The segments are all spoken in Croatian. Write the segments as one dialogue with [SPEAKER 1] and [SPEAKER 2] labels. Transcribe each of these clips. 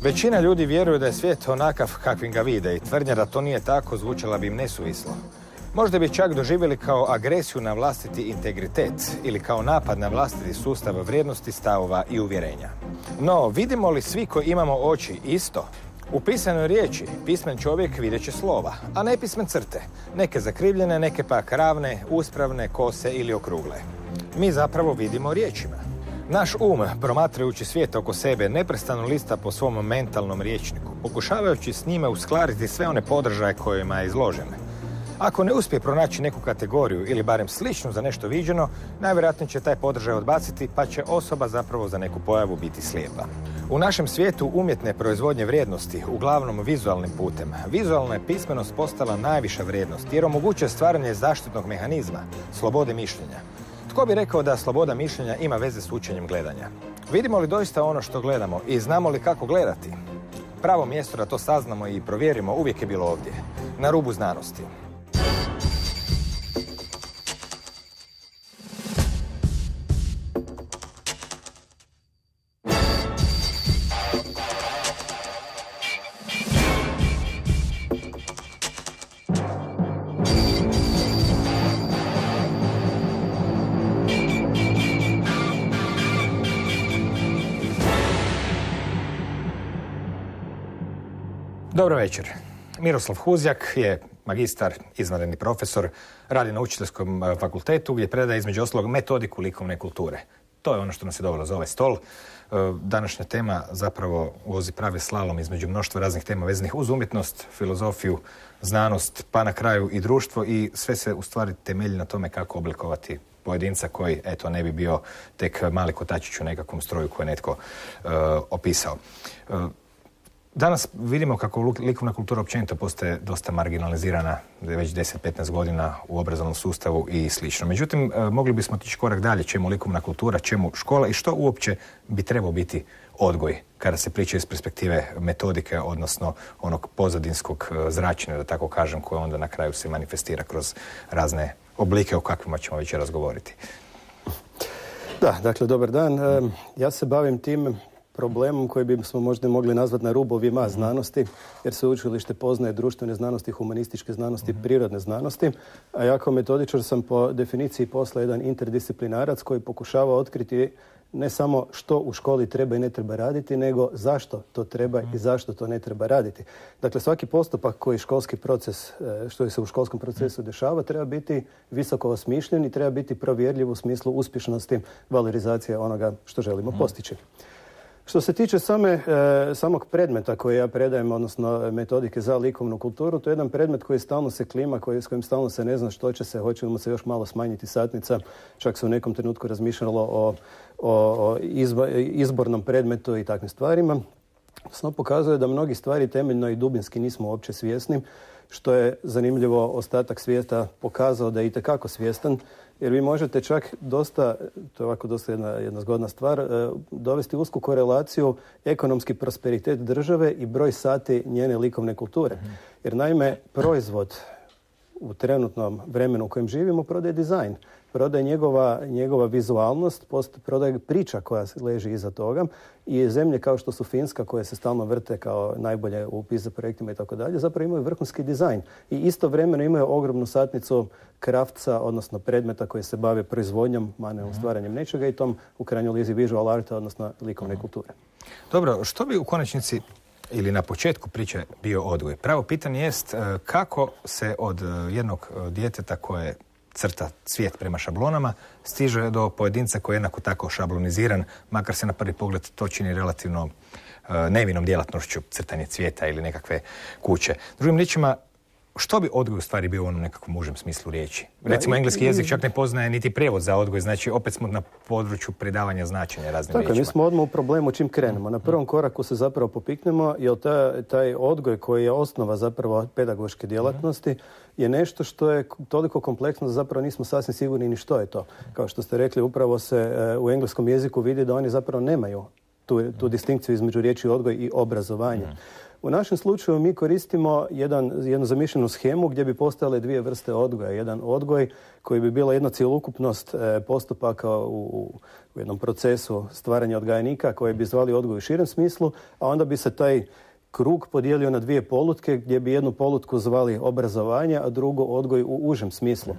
[SPEAKER 1] Većina ljudi vjeruje da je svijet onakav kakvim ga vide i tvrdnja da to nije tako zvučala bi im nesuvislo. Možda bi čak doživjeli kao agresiju na vlastiti integritet ili kao napad na vlastiti sustav vrijednosti, stavova i uvjerenja. No, vidimo li svi koji imamo oči isto? U pisanoj riječi pismen čovjek vidjet će slova, a ne pismen crte. Neke zakrivljene, neke pak ravne, uspravne, kose ili okrugle. Mi zapravo vidimo riječima. Naš promatrajući svijet oko sebe, neprestano lista po svom mentalnom rječniku, pokušavajući s njime uskladiti sve one podržaje kojima je izložen. Ako ne uspije pronaći neku kategoriju ili barem sličnu za nešto viđeno, najvjerojatnije će taj podržaj odbaciti, pa će osoba zapravo za neku pojavu biti slijepa. U našem svijetu umjetne proizvodnje vrijednosti, uglavnom vizualnim putem, vizualna je pismenost postala najviša vrijednost jer omogućuje stvaranje zaštitnog mehanizma, slobode mišljenja. Tko bi rekao da sloboda mišljenja ima veze s učenjem gledanja? Vidimo li doista ono što gledamo i znamo li kako gledati? Pravo mjesto da to saznamo i provjerimo uvijek je bilo ovdje, na rubu znanosti. Dobro večer. Miroslav Huzjak je magistar, izvanredni profesor, radi na učiteljskom fakultetu gdje predaje između ostalog metodiku likovne kulture. To je ono što nas je dovelo za ovaj stol. Današnja tema zapravo vozi pravi slalom između mnoštva raznih tema vezanih uz umjetnost, filozofiju, znanost, pa na kraju i društvo i sve se u stvari temelji na tome kako oblikovati pojedinca koji, eto, ne bi bio tek mali kotačić u nekakvom stroju koje je netko opisao. Danas vidimo kako likovna kultura općenito postaje dosta marginalizirana već 10-15 godina u obrazovnom sustavu i slično. Međutim, mogli bismo otići korak dalje, čemu likovna kultura, čemu škola i što uopće bi trebao biti odgoj kada se priča iz perspektive metodike, odnosno onog pozadinskog zračenja, da tako kažem, koje onda na kraju se manifestira kroz razne oblike o kakvima ćemo večeras govoriti.
[SPEAKER 2] Da, dakle, dobar dan. Ja se bavim tim problemom koji bismo možda mogli nazvati na rubovima znanosti, jer se učilište poznaje društvene znanosti, humanističke znanosti, prirodne znanosti, a ja kao metodičar sam po definiciji posla jedan interdisciplinarac koji pokušava otkriti ne samo što u školi treba i ne treba raditi, nego zašto to treba i zašto to ne treba raditi. Dakle, svaki postupak koji školski proces, što se u školskom procesu dešava, treba biti visoko osmišljen i treba biti provjerljiv u smislu uspješnosti valorizacije onoga što želimo postići. Što se tiče samog predmeta koji ja predajem, odnosno metodike za likovnu kulturu, to je jedan predmet koji stalno se klima, s kojim stalno se ne zna što će se, hoće mu se još malo smanjiti satnica. Čak se u nekom trenutku razmišljalo o izbornom predmetu i takvim stvarima. Sno pokazuje da mnogi stvari temeljno i dubinski nismo uopće svjesni, što je zanimljivo ostatak svijeta pokazao da je itekako svjestan, jer vi možete čak dosta, to je ovako dosta jedna zgodna stvar, dovesti usku korelaciju ekonomski prosperitet države i broj sati njene likovne kulture. Jer naime, proizvod u trenutnom vremenu u kojem živimo prodaje dizajn, prodaje njegova vizualnost, prodaje priča koja leži iza toga i zemlje kao što su Finska, koje se stalno vrte kao najbolje u PISA projektima i tako dalje, zapravo imaju vrhunski dizajn i istovremeno imaju ogromnu satnicu krafca, odnosno predmeta koji se bave proizvodnjom, manualnim stvaranjem nečega i tom u krajnjoj lizi visual arta, odnosno likovne kulture.
[SPEAKER 1] Dobro, što bi u konačnici ili na početku priče bio odgoj? Pravo pitanje jest kako se od jednog djeteta koje crta svijet prema šablonama stiže do pojedinca koji je jednako tako šabloniziran, makar se na prvi pogled to čini relativno nevinom djelatnošću, crtanje cvijeta ili nekakve kuće. Drugim riječima, što bi odgoj u stvari bio u onom nekakvom užem smislu riječi? Recimo, engleski jezik čak ne poznaje niti prijevod za odgoj, znači opet smo na području pridavanja značenja raznim riječima.
[SPEAKER 2] Mi smo odmah u problemu čim krenemo. Na prvom koraku se zapravo popiknemo, jer taj odgoj koji je osnova zapravo pedagoške djelatnosti je nešto što je toliko kompleksno da zapravo nismo sasvim sigurni ni što je to. Kao što ste rekli, upravo se u engleskom jeziku vidi da oni zapravo nemaju tu distinkciju između riječi odgoj i obrazovanje. U našem slučaju mi koristimo jednu zamišljenu shemu gdje bi postojale dvije vrste odgoja. Jedan odgoj koji bi bila jedna cjelokupnost postupaka u jednom procesu stvaranja odgajnika koje bi zvali odgoj u širem smislu, a onda bi se taj krug podijelio na dvije polutke gdje bi jednu polutku zvali obrazovanje, a drugu odgoj u užem smislu.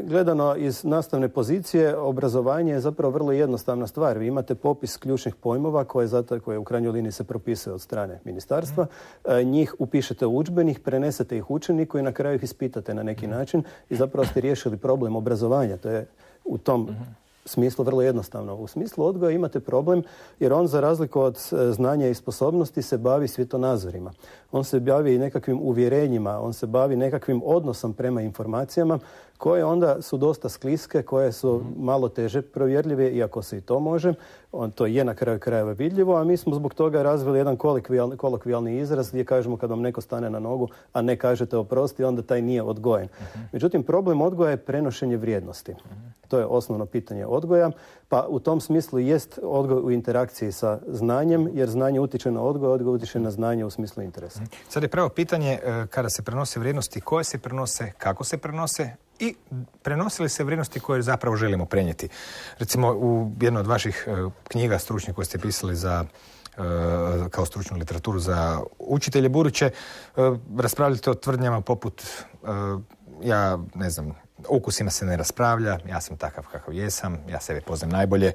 [SPEAKER 2] Gledano iz nastavne pozicije, obrazovanje je zapravo vrlo jednostavna stvar. Vi imate popis ključnih pojmova koje u krajnjoj liniji se propisuje od strane ministarstva. Njih upišete u udžbenik, prenesete ih učeniku i na kraju ih ispitate na neki način i zapravo ste riješili problem obrazovanja. To je u tom smislu vrlo jednostavno. U smislu odgoja imate problem jer on za razliku od znanja i sposobnosti se bavi svjetonazorima. On se bavi nekakvim uvjerenjima, on se bavi nekakvim odnosom prema informacijama koje onda su dosta skliske, koje su malo teže provjerljive, iako se i to može. To je na kraju krajeva vidljivo, a mi smo zbog toga razvili jedan kolokvijalni izraz gdje kažemo kad vam neko stane na nogu, a ne kažete oprosti, onda taj nije odgojen. Međutim, problem odgoja je prenošenje vrijednosti. To je osnovno pitanje odgoja, pa u tom smislu jest odgoj u interakciji sa znanjem, jer znanje utiče na odgoj, odgoj utiče na znanje u smislu interesa.
[SPEAKER 1] Sad je pravo pitanje kada se prenose vrijednosti, koje se prenose, kako se prenose i prenose li se vrijednosti koje zapravo želimo prenijeti. Recimo u jednoj od vaših knjiga stručnih koje ste pisali za kao stručnu literaturu za učitelje buduće, raspravljate o tvrdnjama poput ja ne znam, o ukusima se ne raspravlja, ja sam takav kakav jesam, ja sebe poznam najbolje.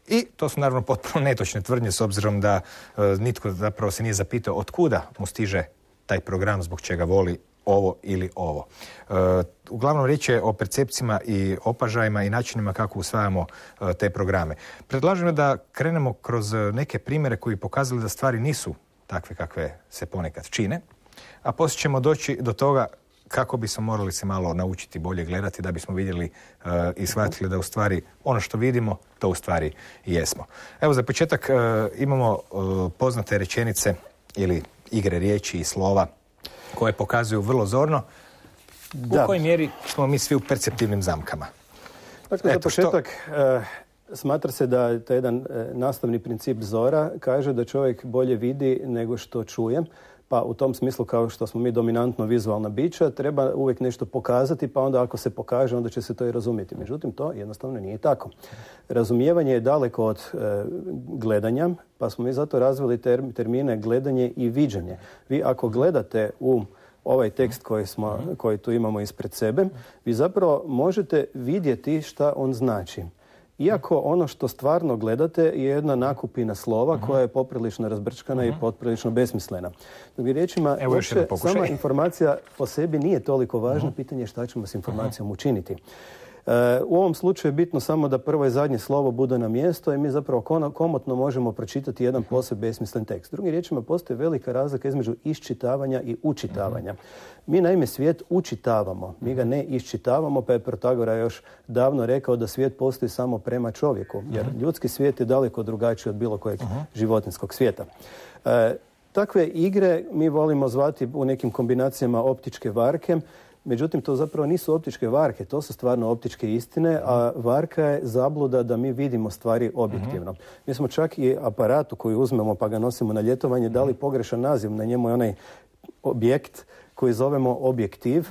[SPEAKER 1] I to su naravno potpuno netočne tvrdnje s obzirom da nitko zapravo se nije zapitao od kuda mu stiže taj program, zbog čega voli ovo ili ovo. Uglavnom riječ je o percepcijama i opažajima i načinima kako usvajamo te programe. Predlažem da krenemo kroz neke primjere koji pokazali da stvari nisu takve kakve se ponekad čine, a poslije ćemo doći do toga kako bismo morali se malo naučiti bolje gledati da bismo vidjeli i shvatili da u stvari ono što vidimo, to u stvari i jesmo. Evo za početak imamo poznate rečenice ili igre riječi i slova koje pokazuju vrlo zorno u kojoj mjeri smo mi svi u perceptivnim zamkama.
[SPEAKER 2] Dakle, za početak smatra se da taj jedan nastavni princip zora kaže da čovjek bolje vidi nego što čuje. Pa u tom smislu, kao što smo mi dominantno vizualna bića, treba uvijek nešto pokazati, pa onda ako se pokaže, onda će se to i razumjeti. Međutim, to jednostavno nije tako. Razumijevanje je daleko od gledanja, pa smo mi zato razvili termine gledanje i viđenje. Vi ako gledate u ovaj tekst koji tu imamo ispred sebe, vi zapravo možete vidjeti šta on znači. Iako ono što stvarno gledate je jedna nakupina slova koja je poprilično razbrčkana i poprilično besmislena. Drugim riječima, sama informacija po sebi nije toliko važna, pitanje je šta ćemo s informacijom učiniti. U ovom slučaju je bitno samo da prvo i zadnje slovo bude na mjesto i mi zapravo komotno možemo pročitati jedan posve besmislen tekst. Drugim riječima, postoji velika razlika između iščitavanja i učitavanja. Mi naime svijet učitavamo, mi ga ne iščitavamo, pa je Protagora još davno rekao da svijet postoji samo prema čovjeku, jer ljudski svijet je daleko drugačiji od bilo kojeg životinjskog svijeta. Takve igre mi volimo zvati u nekim kombinacijama optičke varke. Međutim, to zapravo nisu optičke varke, to su stvarno optičke istine, a varka je zabluda da mi vidimo stvari objektivno. Mi smo čak i aparatu koji uzmemo pa ga nosimo na ljetovanje dali pogrešan naziv. Na njemu je onaj objekt koji zovemo objektiv,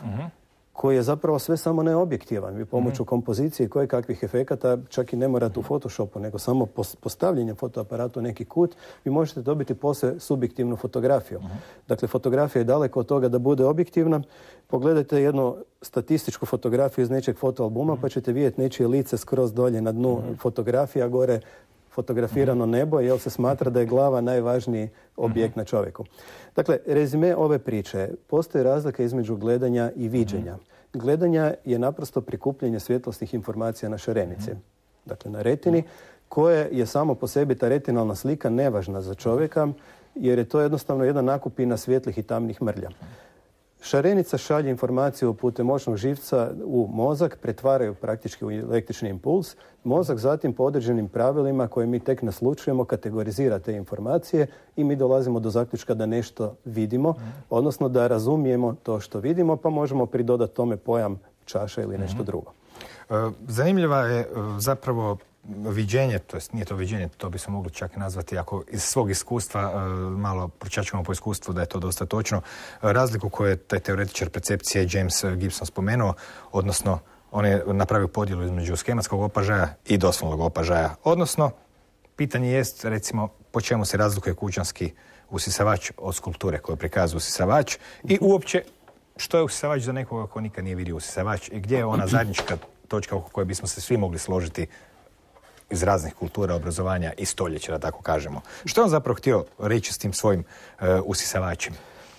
[SPEAKER 2] koji je zapravo sve samo neobjektivan. Vi pomoću kompozicije i koje kakvih efekata, čak i ne morate u Photoshopu, nego samo postavljanjem fotoaparata u neki kut, vi možete dobiti posve subjektivnu fotografiju. Dakle, fotografija je daleko od toga da bude objektivna. Pogledajte jednu statističku fotografiju iz nečeg fotoalbuma, pa ćete vidjeti nečije lice skroz dolje na dnu fotografija, gore fotografirano nebo, jer se smatra da je glava najvažniji objekt na čovjeku. Dakle, rezime ove priče. Postoji razlika između gledanja i viđenja. Gledanja je naprosto prikupljanje svjetlosnih informacija na šarenici. Dakle, na retini, koje je samo po sebi ta retinalna slika nevažna za čovjeka, jer je to jednostavno jedna nakupina svjetlih i tamnih mrlja. Šarenica šalje informaciju putem moćnog živca u mozak, pretvaraju praktički u električni impuls. Mozak zatim po određenim pravilima koje mi tek naslučujemo kategorizira te informacije i mi dolazimo do zaključka da nešto vidimo, odnosno da razumijemo to što vidimo, pa možemo pridodati tome pojam čaša ili nešto drugo.
[SPEAKER 1] Zanimljiva je zapravo viđenje, to jest nije to viđenje, to bi se mogli čak nazvati, ako iz svog iskustva malo pročačkamo po iskustvu da je to dosta točno, razliku koju je taj teoretičar percepcije James Gibson spomenuo, odnosno on je napravio podjelu između schematskog opažaja i doslovnog opažaja. Odnosno, pitanje jest, recimo, po čemu se razlikuje kućanski usisavač od skulpture koju prikazuje usisavač i uopće što je usisavač za nekoga ko nikad nije vidio usisavač i gdje je ona zajednička točka oko koje bismo se svi mogli složiti iz raznih kultura, obrazovanja i stoljeća, da tako kažemo. Što je on zapravo htio reći s tim svojim usisavačem?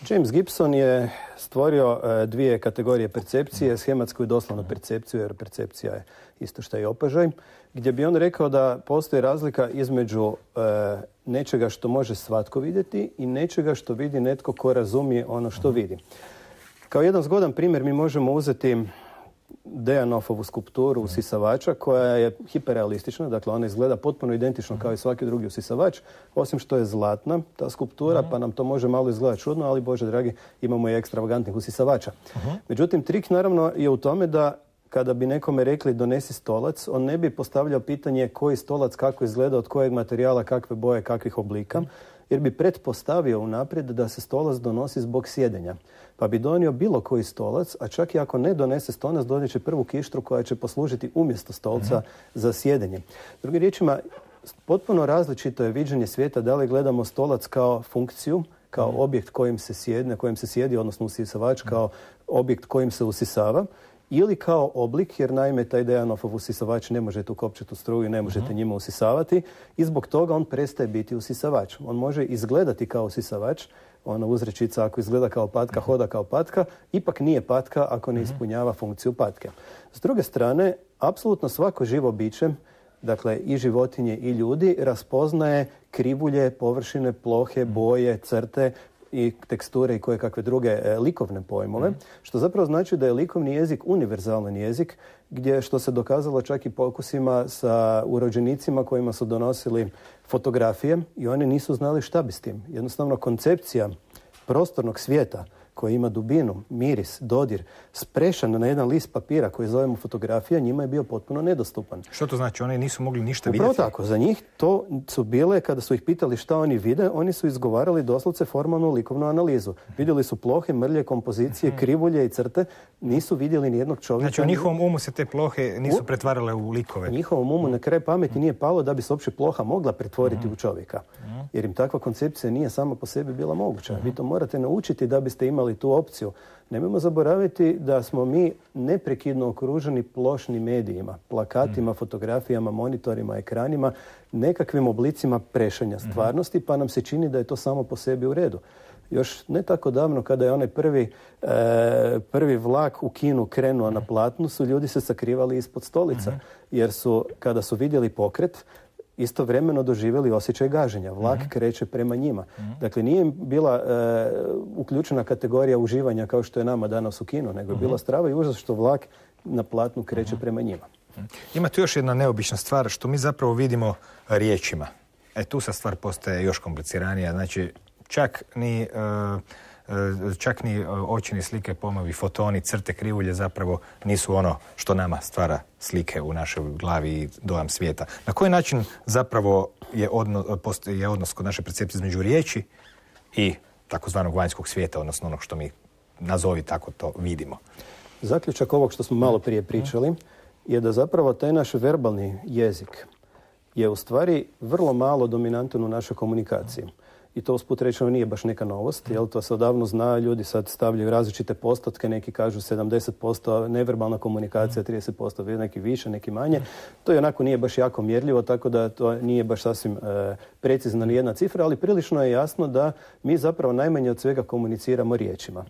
[SPEAKER 2] James Gibson je stvorio dvije kategorije percepcije, shematsku i doslovnu percepciju, jer percepcija je isto što i opažaj, gdje bi on rekao da postoji razlika između nečega što može svatko vidjeti i nečega što vidi netko ko razumije ono što vidi. Kao jedan zgodan primjer mi možemo uzeti Dejanofovu skulpturu usisavača koja je hiperrealistična, dakle ona izgleda potpuno identično kao i svaki drugi usisavač, osim što je zlatna ta skulptura, pa nam to može malo izgledati čudno, ali Bože dragi, imamo i ekstravagantnih usisavača. Međutim, trik naravno je u tome da kada bi nekome rekli donesi stolac, on ne bi postavljao pitanje koji stolac, kako izgleda, od kojeg materijala, kakve boje, kakvih oblika, jer bi pretpostavio unaprijed da se stolac donosi zbog sjedenja. Pa bi donio bilo koji stolac, a čak i ako ne donese stolac, donijet će prvu kištru koja će poslužiti umjesto stolca za sjedenje. Drugim riječima, potpuno različito je viđenje svijeta da li gledamo stolac kao funkciju, kao objekt na kojem se sjedi, odnosno usisavač kao objekt kojim se usisava, ili kao oblik, jer naime taj Dejanofov usisavač ne možete ukopčati u struju i ne možete njima usisavati i zbog toga on prestaje biti usisavač. On može izgledati kao usisavač, ona uzrečica ako izgleda kao patka, hoda kao patka, ipak nije patka ako ne ispunjava funkciju patke. S druge strane, apsolutno svako živo biće, dakle i životinje i ljudi, raspoznaje krivulje, površine, plohe, boje, crte i teksture i koje kakve druge likovne pojmove, što zapravo znači da je likovni jezik univerzalan jezik, gdje što se dokazalo čak i pokusima sa urođenicima kojima su donosili fotografije i oni nisu znali šta bi s tim. Jednostavno koncepcija prostornog svijeta koji ima dubinu, miris, dodir, sprešan na jedan list papira koji zovemo fotografija, njima je bio potpuno nedostupan.
[SPEAKER 1] Što to znači? Oni nisu mogli ništa vidjeti?
[SPEAKER 2] Upravo tako. Za njih to su bile, kada su ih pitali šta oni vide, oni su izgovarali doslovce formalnu likovnu analizu. Vidjeli su plohe, mrlje, kompozicije, krivulje i crte, nisu vidjeli nijednog čovjeka.
[SPEAKER 1] Znači u njihovom umu se te plohe nisu pretvarale u likove?
[SPEAKER 2] U njihovom umu na kraj pameti nije palo da bi se uopće ploha mogla pretvoriti u čovjeka. Jer im takva koncepcija nije sama po sebi bila moguća. Vi to morate naučiti da biste imali tu opciju. Nemojmo zaboraviti da smo mi neprekidno okruženi plošnim medijima, plakatima, fotografijama, monitorima, ekranima, nekakvim oblicima prešanja stvarnosti, pa nam se čini da je to samo po sebi u redu. Još ne tako davno, kada je onaj prvi vlak u kinu krenuo na platnu, su ljudi se sakrivali ispod stolica, jer su, kada su vidjeli pokret, istovremeno doživjeli osjećaj gaženja. Vlak kreće prema njima. Dakle, nije im bila uključena kategorija uživanja kao što je nama danas u kinu, nego je bila strava i užas što vlak na platnu kreće prema njima.
[SPEAKER 1] Ima tu još jedna neobična stvar što mi zapravo vidimo riječima. Tu sad stvar postaje još kompliciranija. Znači, čak ni očini slike, pojmovi, fotoni, crte, krivulje zapravo nisu ono što nama stvara slike u našoj glavi i dojam svijeta. Na koji način zapravo je odnos kod naše percepcije između riječi i takozvanog vanjskog svijeta, odnosno onog što mi nazovi tako to vidimo?
[SPEAKER 2] Zaključak ovog što smo malo prije pričali je da zapravo taj naš verbalni jezik je u stvari vrlo malo dominantan u našoj komunikaciji. I to usput rečeno nije baš neka novost, jer to se odavno zna, ljudi sad stavljaju različite postotke, neki kažu 70% neverbalna komunikacija, 30% neki više, neki manje. To i onako nije baš jako mjerljivo, tako da to nije baš sasvim precizna ni jedna cifra, ali prilično je jasno da mi zapravo najmanje od svega komuniciramo riječima.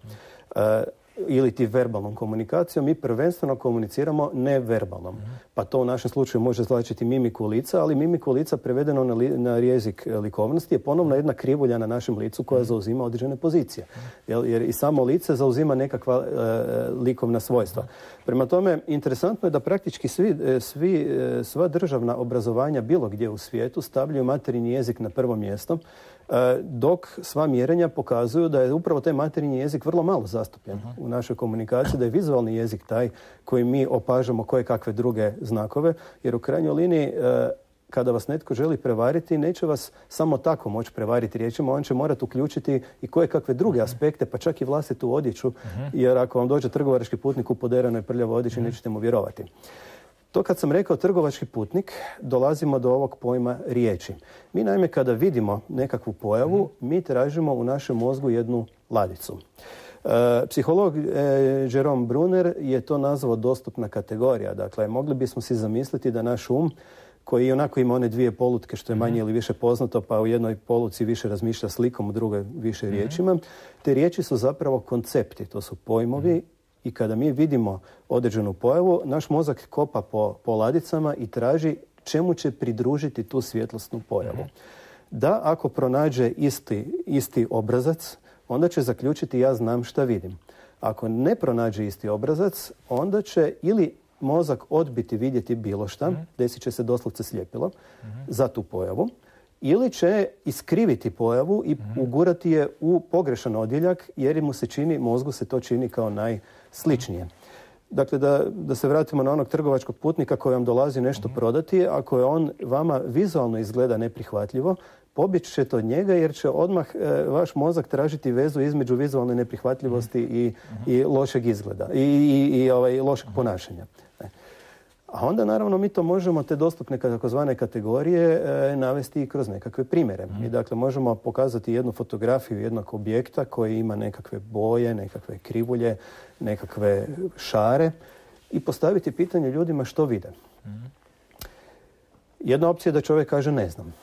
[SPEAKER 2] Ili ti verbalnom komunikacijom, mi prvenstveno komuniciramo neverbalnom. Pa to u našem slučaju može značiti mimiku lica, ali mimiku lica prevedeno na jezik likovnosti je ponovno jedna krivulja na našem licu koja zauzima određene pozicije. Jer i samo lice zauzima nekakva likovna svojstva. Prema tome, interesantno je da praktički sva državna obrazovanja bilo gdje u svijetu stavljaju materinji jezik na prvo mjesto, dok sva mjerenja pokazuju da je upravo taj materinji jezik vrlo malo zastupljen u našoj komunikaciji, da je vizualni jezik taj koji mi opažamo koje kakve druge znakove, jer u krajnjoj liniji kada vas netko želi prevariti, neće vas samo tako moći prevariti riječima, on će morati uključiti i koje kakve druge aspekte, pa čak i vlastitu odjeću, jer ako vam dođe trgovački putnik u poderanoj prljavoj odjeći, nećete mu vjerovati. To kad sam rekao trgovački putnik, dolazimo do ovog pojma riječi. Mi naime kada vidimo nekakvu pojavu, mi tražimo u našem mozgu jednu ladicu. Psiholog Jerome Brunner je to nazvao dostupna kategorija. Dakle, mogli bismo si zamisliti da naš um, koji i onako ima one dvije polutke što je manje ili više poznato, pa u jednoj poluci više razmišlja slikom, u drugoj više riječima. Te riječi su zapravo koncepti, to su pojmovi i kada mi vidimo određenu pojavu, naš mozak kopa po ladicama i traži čemu će pridružiti tu svjetlosnu pojavu. Da, ako pronađe isti obrazac, onda će zaključiti ja znam šta vidim. Ako ne pronađe isti obrazac, onda će ili mozak odbiti vidjeti bilo šta, desit će se doslovce sljepilo za tu pojavu, ili će iskriviti pojavu i ugurati je u pogrešan odjeljak jer mu se čini, mozgu se to čini kao najsličnije. Dakle, da se vratimo na onog trgovačkog putnika koji vam dolazi nešto prodati, ako je on vama vizualno izgleda neprihvatljivo, pobjeći ćete od njega jer će odmah vaš mozak tražiti vezu između vizualne neprihvatljivosti i lošeg izgleda i lošeg ponašanja. A onda naravno mi to možemo, te dostupne takozvane kategorije, navesti i kroz nekakve primjere. I dakle možemo pokazati jednu fotografiju jednog objekta koji ima nekakve boje, nekakve krivulje, nekakve šare i postaviti pitanje ljudima što vide. Jedna opcija je da čovjek kaže ne znam.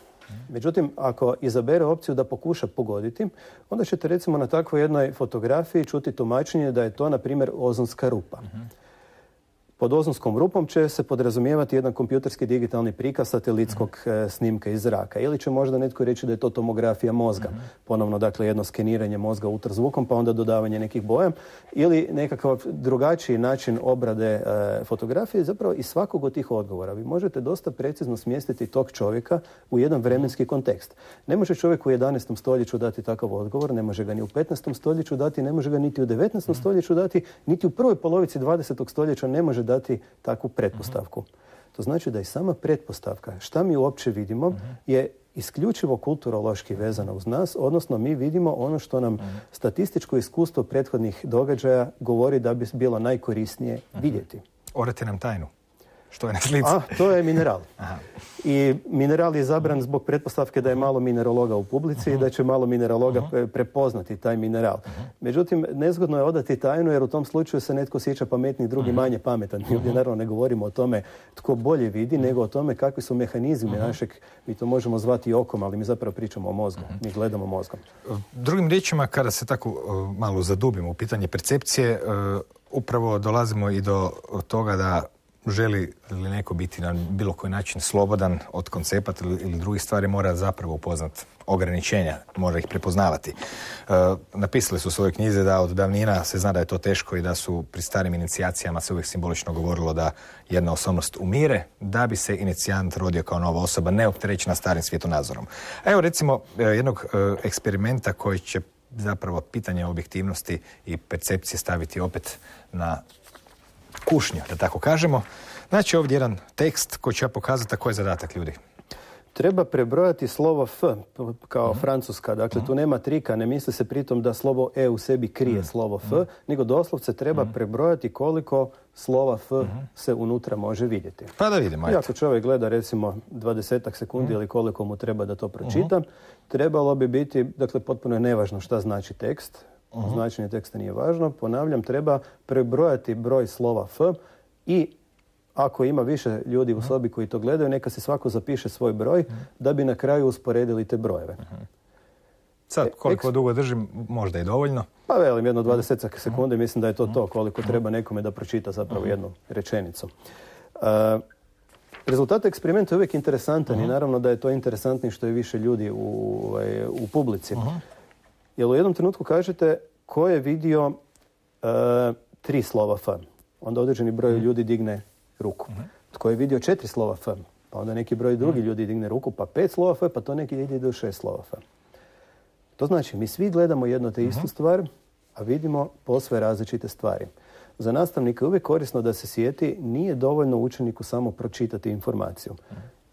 [SPEAKER 2] Međutim, ako izabere opciju da pokuša pogoditi, onda ćete recimo na takvoj jednoj fotografiji čuti tumačenje da je to, na primjer, ozonska rupa. Pod ozonskom rupom će se podrazumijevati jedan kompjuterski digitalni prikaz satelitskog snimka iz zraka. Ili će možda netko reći da je to tomografija mozga. Ponovno, dakle, jedno skeniranje mozga ultrazvukom, pa onda dodavanje nekih boja. Ili nekakav drugačiji način obrade fotografije. Zapravo, iz svakog od tih odgovora vi možete dosta precizno smjestiti tog čovjeka u jedan vremenski kontekst. Ne može čovjek u 11. stoljeću dati takav odgovor, ne može ga ni u 15. stoljeću dati, ne može ga niti u 19. stoljeću dati, niti u prvoj polovici 20. stoljeća ne može dati takvu pretpostavku. To znači da i sama pretpostavka, šta mi uopće vidimo, je isključivo kulturološki vezana uz nas, odnosno mi vidimo ono što nam statističko iskustvo prethodnih događaja govori da bi bilo najkorisnije vidjeti.
[SPEAKER 1] Orete nam tajnu. Što je na slici?
[SPEAKER 2] To je mineral. I mineral je zabran zbog pretpostavke da je malo mineraloga u publici i da će malo mineraloga prepoznati taj mineral. Međutim, nezgodno je odati tajnu jer u tom slučaju se netko osjeća pametni, drugi manje pametan. Mi ovdje naravno ne govorimo o tome tko bolje vidi, nego o tome kakvi su mehanizmi našeg, mi to možemo zvati okom, ali mi zapravo pričamo o mozgu. Mi gledamo mozgom.
[SPEAKER 1] Drugim riječima, kada se tako malo zadubimo u pitanje percepcije, upravo dolazimo i do toga da želi li neko biti na bilo koji način slobodan od koncepata ili drugih stvari, mora zapravo upoznat ograničenja, mora ih prepoznavati. Napisali su u svojoj knjizi da od davnina se zna da je to teško i da su pri starim inicijacijama se uvijek simbolično govorilo da jedna osobnost umire da bi se inicijant rodio kao nova osoba, neopterećena starim svjetonazorom. A evo recimo jednog eksperimenta koji će zapravo pitanje objektivnosti i percepcije staviti opet na kušnju, da tako kažemo. Znači ovdje jedan tekst koji će ja pokazati koji je zadatak ljudi.
[SPEAKER 2] Treba prebrojati slovo F kao francuska. Dakle, tu nema trika. Ne misli se pritom da slovo E u sebi krije slovo F, nego doslovce treba prebrojati koliko slova F se unutra može vidjeti.
[SPEAKER 1] Pa da vidimo.
[SPEAKER 2] I ako čovjek gleda recimo 20 sekundi ili koliko mu treba da to pročita, trebalo bi biti, dakle, potpuno je nevažno šta znači tekst. Značenje teksta nije važno. Ponavljam, treba prebrojati broj slova F i ako ima više ljudi u sobi koji to gledaju, neka se svako zapiše svoj broj da bi na kraju usporedili te brojeve.
[SPEAKER 1] Sad, koliko dugo držim, možda i dovoljno.
[SPEAKER 2] Pa velim, jedno 20 sekundi, mislim da je to koliko treba nekome da pročita zapravo jednu rečenicu. Rezultat eksperimenta je uvijek interesantan i naravno da je to interesantnije što je više ljudi u publici. Jer u jednom trenutku kažete ko je vidio 3 slova F, onda određeni broj ljudi digne ruku. Tko je vidio 4 slova F, pa onda neki broj drugi ljudi digne ruku, pa 5 slova F, pa to neki ide do 6 slova F. To znači, mi svi gledamo jedno te istu stvar, a vidimo posve različite stvari. Za nastavnika je uvijek korisno da se sjeti, nije dovoljno učeniku samo pročitati informaciju.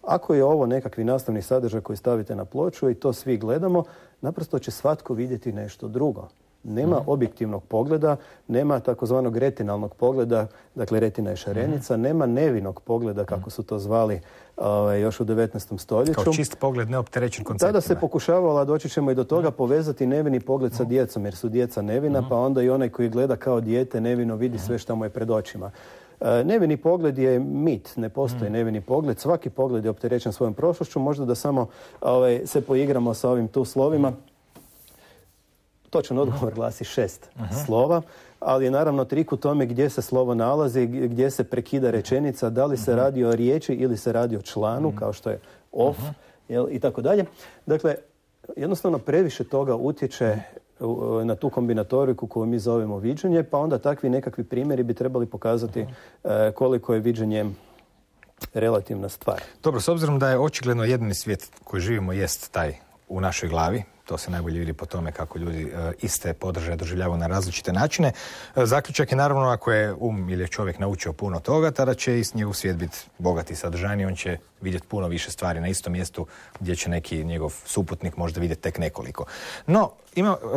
[SPEAKER 2] Ako je ovo nekakvi nastavni sadržaj koji stavite na ploču i to svi gledamo, naprosto će svatko vidjeti nešto drugo. Nema objektivnog pogleda, nema takozvanog retinalnog pogleda, dakle retina je šarenica, nema nevinog pogleda, kako su to zvali još u 19. stoljeću.
[SPEAKER 1] Kao čist pogled neopterećen konceptima.
[SPEAKER 2] Tada se pokušavalo, a doći ćemo i do toga, povezati nevini pogled sa djecom, jer su djeca nevina, pa onda i onaj koji gleda kao dijete nevino vidi sve što mu je pred očima. Nevini pogled je mit, ne postoji nevini pogled, svaki pogled je opterećen svojom prošlošću, možda da samo se poigramo sa ovim tu slovima. Točan odgovor glasi 6 slova, ali je naravno trik u tome gdje se slovo nalazi, gdje se prekida rečenica, da li se radi o riječi ili se radi o članu, kao što je of, i tako dalje. Dakle, jednostavno previše toga utječe na tu kombinatoriku koju mi zovemo viđenje, pa onda takvi nekakvi primjeri bi trebali pokazati koliko je viđenje relativna stvar.
[SPEAKER 1] Dobro, s obzirom da je očigledno jedini svijet koji živimo jest taj u našoj glavi, to se najbolje vidi po tome kako ljudi iste podržaje doživljavaju na različite načine. Zaključak je naravno, ako je ili je čovjek naučio puno toga, tada će i njegov svijet biti bogat i sadržajniji, on će vidjeti puno više stvari na istom mjestu gdje će neki njegov suputnik možda vidjeti tek nekoliko. No,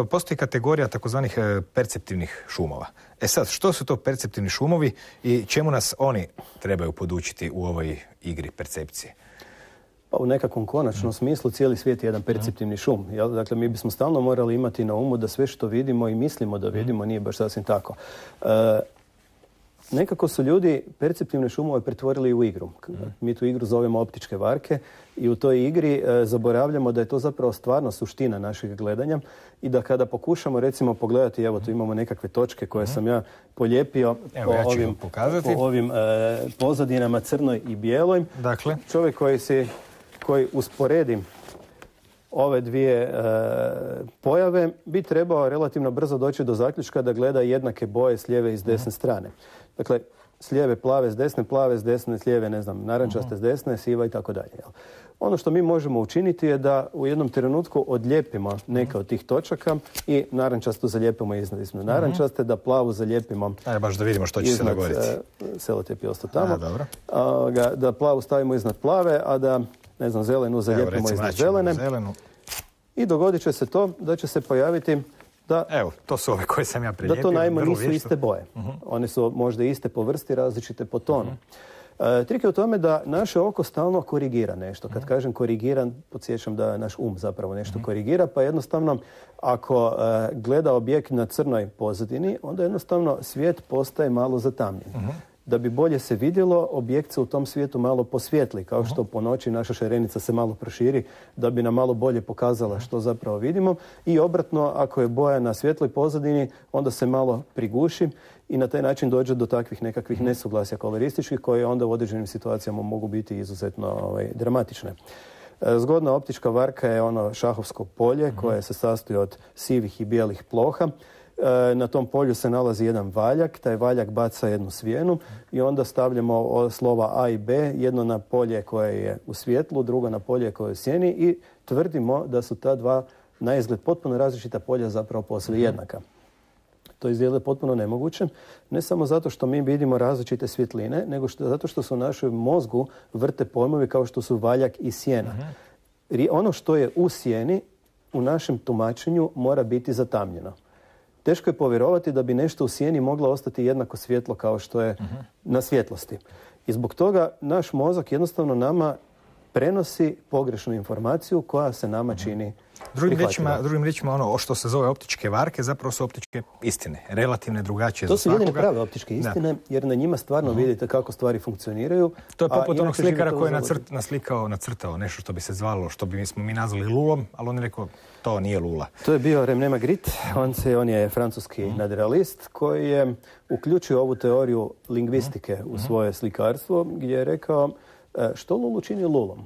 [SPEAKER 1] postoji kategorija takozvanih perceptivnih šumova. Sad, što su to perceptivni šumovi i čemu nas oni trebaju podučiti u ovoj igri percepcije?
[SPEAKER 2] Pa u nekakvom konačnom smislu cijeli svijet je jedan perceptivni šum. Jel? Dakle, mi bismo stalno morali imati na umu da sve što vidimo i mislimo da vidimo nije baš sasvim tako. Nekako su ljudi perceptivne šumove pretvorili u igru. Mi tu igru zovemo optičke varke i u toj igri zaboravljamo da je to zapravo stvarno suština našeg gledanja i da kada pokušamo recimo pogledati, evo tu imamo nekakve točke koje sam ja polijepio po ovim pozadinama crnoj i bijeloj.
[SPEAKER 1] Dakle,
[SPEAKER 2] čovjek koji usporedi ove dvije pojave bi trebao relativno brzo doći do zaključka da gleda jednake boje s lijeve i s desne strane. Dakle, s lijeve plave, s desne, s lijeve, ne znam, narančaste s desne, siva i tako dalje. Ono što mi možemo učiniti je da u jednom trenutku odlijepimo neke od tih točaka i narančastu zalijepimo iznad narančaste, da plavu zalijepimo
[SPEAKER 1] baš da vidimo što će se dogoditi.
[SPEAKER 2] Selotejp je ostao tamo. Da plavu stavimo iznad plave, a da ne znam, zelenu zalijepimo iznad zelene. I dogodit će se to da će se pojaviti da...
[SPEAKER 1] Evo, to su ove koje sam ja prilijepio.
[SPEAKER 2] Da to naime nisu iste boje. One su možda iste po vrsti, različite po tonu. Trik je u tome da naše oko stalno korigira nešto. Kad kažem korigiran, podsjećam da naš zapravo nešto korigira, pa jednostavno ako gleda objekt na crnoj pozadini, onda jednostavno svijet postaje malo zatamljen. Da bi bolje se vidjelo, objekt se u tom svijetu malo posvijetli, kao što po noći naša šarenica se malo proširi, da bi nam malo bolje pokazala što zapravo vidimo. I obratno, ako je boja na svjetloj pozadini, onda se malo priguši i na taj način dođe do takvih nekakvih nesuglasja kolorističkih, koje onda u određenim situacijama mogu biti izuzetno dramatične. Zgodna optička varka je ono šahovsko polje koje se sastoji od sivih i bijelih ploha. Na tom polju se nalazi jedan valjak, taj valjak baca jednu svijenu i onda stavljamo slova A i B, jedno na polje koje je u svjetlu, drugo na polje koje je u sjeni i tvrdimo da su ta dva na izgled potpuno različita polja zapravo posve jednaka. To izgleda potpuno nemoguće, ne samo zato što mi vidimo različite svjetline, nego zato što su u našem mozgu vrte pojmovi kao što su valjak i sjena. Ono što je u sjeni, u našem tumačenju mora biti zatamnjeno. Teško je povjerovati da bi nešto u sjeni moglo ostati jednako svjetlo kao što je na svjetlosti. I zbog toga naš mozak jednostavno nama prenosi pogrešnu informaciju koja se nama čini prihvatljiva.
[SPEAKER 1] Drugim riječima, ono što se zove optičke varke zapravo su optičke istine, relativne, drugačije za svakoga.
[SPEAKER 2] To su jedine prave optičke istine, jer na njima stvarno vidite kako stvari funkcioniraju.
[SPEAKER 1] To je poput onog slikara koji je nacrtao nešto što bi se zvalo, što bismo mi nazvali lulom, ali on je rekao to nije lula.
[SPEAKER 2] To je bio René Magritte, on je francuski nadrealist koji je uključio ovu teoriju lingvistike u svoje slikarstvo, gdje je rekao što lulu čini lulom.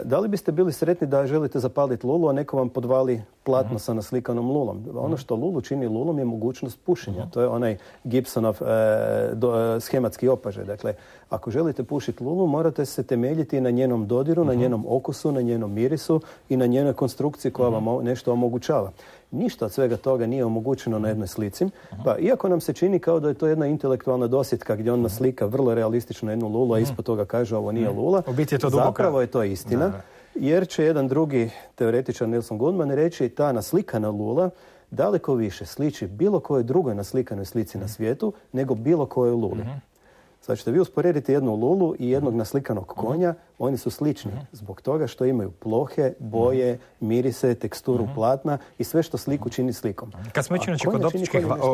[SPEAKER 2] Da li biste bili sretni da želite zapaliti lulu, a neko vam podvali platno sa naslikanom lulom. Ono što lulu čini lulom je mogućnost pušenja. To je onaj Gibsonov schematski opažaj. Dakle, ako želite pušiti lulu, morate se temeljiti na njenom dodiru, na njenom okusu, na njenom mirisu i na njenoj konstrukciji koja vam nešto omogućava. Ništa od svega toga nije omogućeno na jednoj slici. Pa iako nam se čini kao da je to jedna intelektualna dosjetka gdje on naslika vrlo realistično jednu lulu, a ispod toga kaže ovo nije lula, zapravo je to istina. Jer će jedan drugi teoretičar, Nelson Goodman, reći ta naslikana lula daleko više sliči bilo kojoj drugoj naslikanoj slici na svijetu nego bilo kojoj luli. Sad ćete vi usporediti jednu lulu i jednog naslikanog konja, oni su slični zbog toga što imaju plohe, boje, mirise, teksturu platna i sve što sliku čini slikom.
[SPEAKER 1] Kad smo inače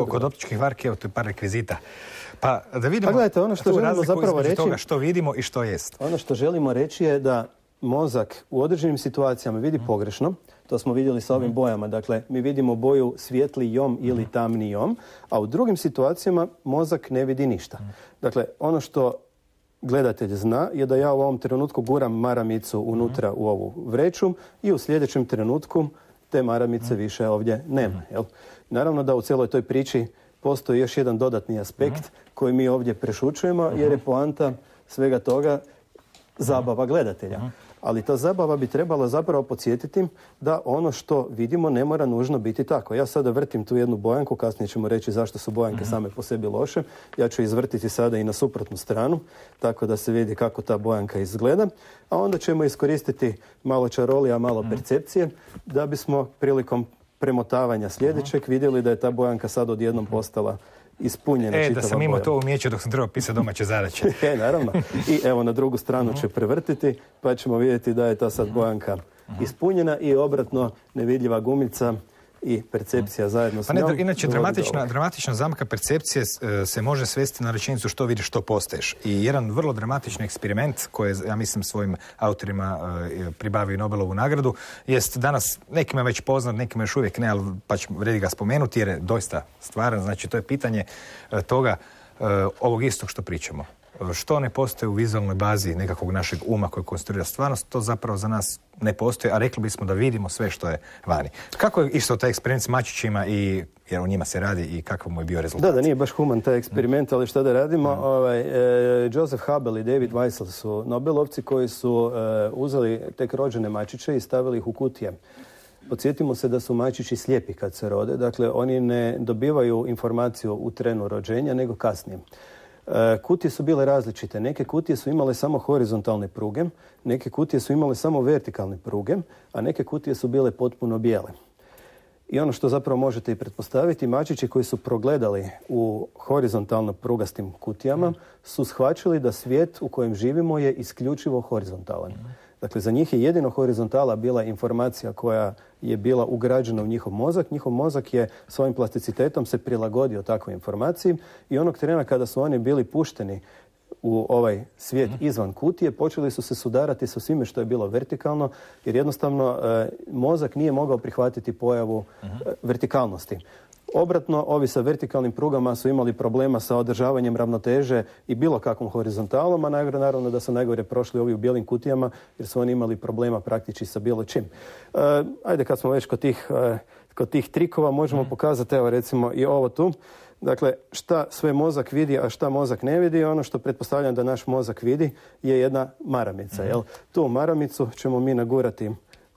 [SPEAKER 1] kod optičkih varki, evo tu je par rekvizita. Pa da vidimo
[SPEAKER 2] gledajte, ono što želimo zapravo reći,
[SPEAKER 1] toga što vidimo i što jest.
[SPEAKER 2] Ono što želimo reći je da mozak u određenim situacijama vidi pogrešno. To smo vidjeli sa ovim bojama. Dakle, mi vidimo boju svijetlijom ili tamnijom, a u drugim situacijama mozak ne vidi ništa. Dakle, ono što gledatelj zna je da ja u ovom trenutku guram maramicu unutra u ovu vreću i u sljedećem trenutku te maramice više ovdje nema. Jel? Naravno da u cijeloj toj priči postoji još jedan dodatni aspekt koji mi ovdje prešućujemo jer je poanta svega toga zabava gledatelja. Ali ta zabava bi trebala zapravo podsjetiti da ono što vidimo ne mora nužno biti tako. Ja sada vrtim tu jednu bojanku, kasnije ćemo reći zašto su bojanke same po sebi loše. Ja ću izvrtiti sada i na suprotnu stranu, tako da se vidi kako ta bojanka izgleda. A onda ćemo iskoristiti malo čarolija, malo percepcije, da bismo prilikom premotavanja sljedećeg vidjeli da je ta bojanka sad odjednom postala ispunjena čitava boja.
[SPEAKER 1] Da sam imao to umijeće dok sam trebao pisati domaće zadaće.
[SPEAKER 2] Naravno. I evo na drugu stranu će prevrtiti, pa ćemo vidjeti da je ta sad bojanka ispunjena i obratno nevidljiva gumica i percepcija zajedno s njom.
[SPEAKER 1] Inače, dramatična zamka percepcije se može svesti na rečenicu što vidiš, što postaješ. I jedan vrlo dramatični eksperiment koji je, ja mislim, svojim autorima pribavio Nobelovu nagradu, jest danas nekima već poznat, nekima još uvijek ne, ali pa vredi ga spomenuti jer je doista stvaran. Znači, to je pitanje toga, ovog istog što pričamo. Što ne postoji u vizualnoj bazi nekakvog našeg uma koji konstruira stvarnost, to zapravo za nas ne postoji, a rekli bismo da vidimo sve što je vani. Kako je isto taj eksperiment s mačićima i jer o njima se radi i kakav mu je bio rezultat?
[SPEAKER 2] Da nije baš human taj eksperiment, ali šta da radimo? Joseph Hubble i David Weissel su Nobelovci koji su uzeli tek rođene mačiće i stavili ih u kutije. Podsjetimo se da su mačići slijepi kad se rode, dakle oni ne dobivaju informaciju u trenu rođenja, nego kasnije. Kutije su bile različite. Neke kutije su imale samo horizontalne pruge, neke kutije su imale samo vertikalne pruge, a neke kutije su bile potpuno bijele. I ono što zapravo možete i pretpostaviti, mačići koji su progledali u horizontalno prugastim kutijama su shvaćali da svijet u kojem živimo je isključivo horizontalan. Dakle, za njih je jedino horizontala bila informacija koja je bila ugrađena u njihov mozak. Njihov mozak je svojim plasticitetom se prilagodio takvoj informaciji i onog trena kada su oni bili pušteni u ovaj svijet izvan kutije, počeli su se sudarati sa svime što je bilo vertikalno, jer jednostavno mozak nije mogao prihvatiti pojavu vertikalnosti. Obratno, ovi sa vertikalnim prugama su imali problema sa održavanjem ravnoteže i bilo kakvom horizontalom, a naravno da su najgore prošli ovi u bijelim kutijama, jer su oni imali problema praktički sa bilo čim. Ajde, kad smo već kod tih trikova, možemo pokazati, evo recimo i ovo tu. Dakle, šta sve mozak vidi, a šta mozak ne vidi, ono što pretpostavljam da naš mozak vidi je jedna maramica. Jel? Tu maramicu ćemo mi nagurati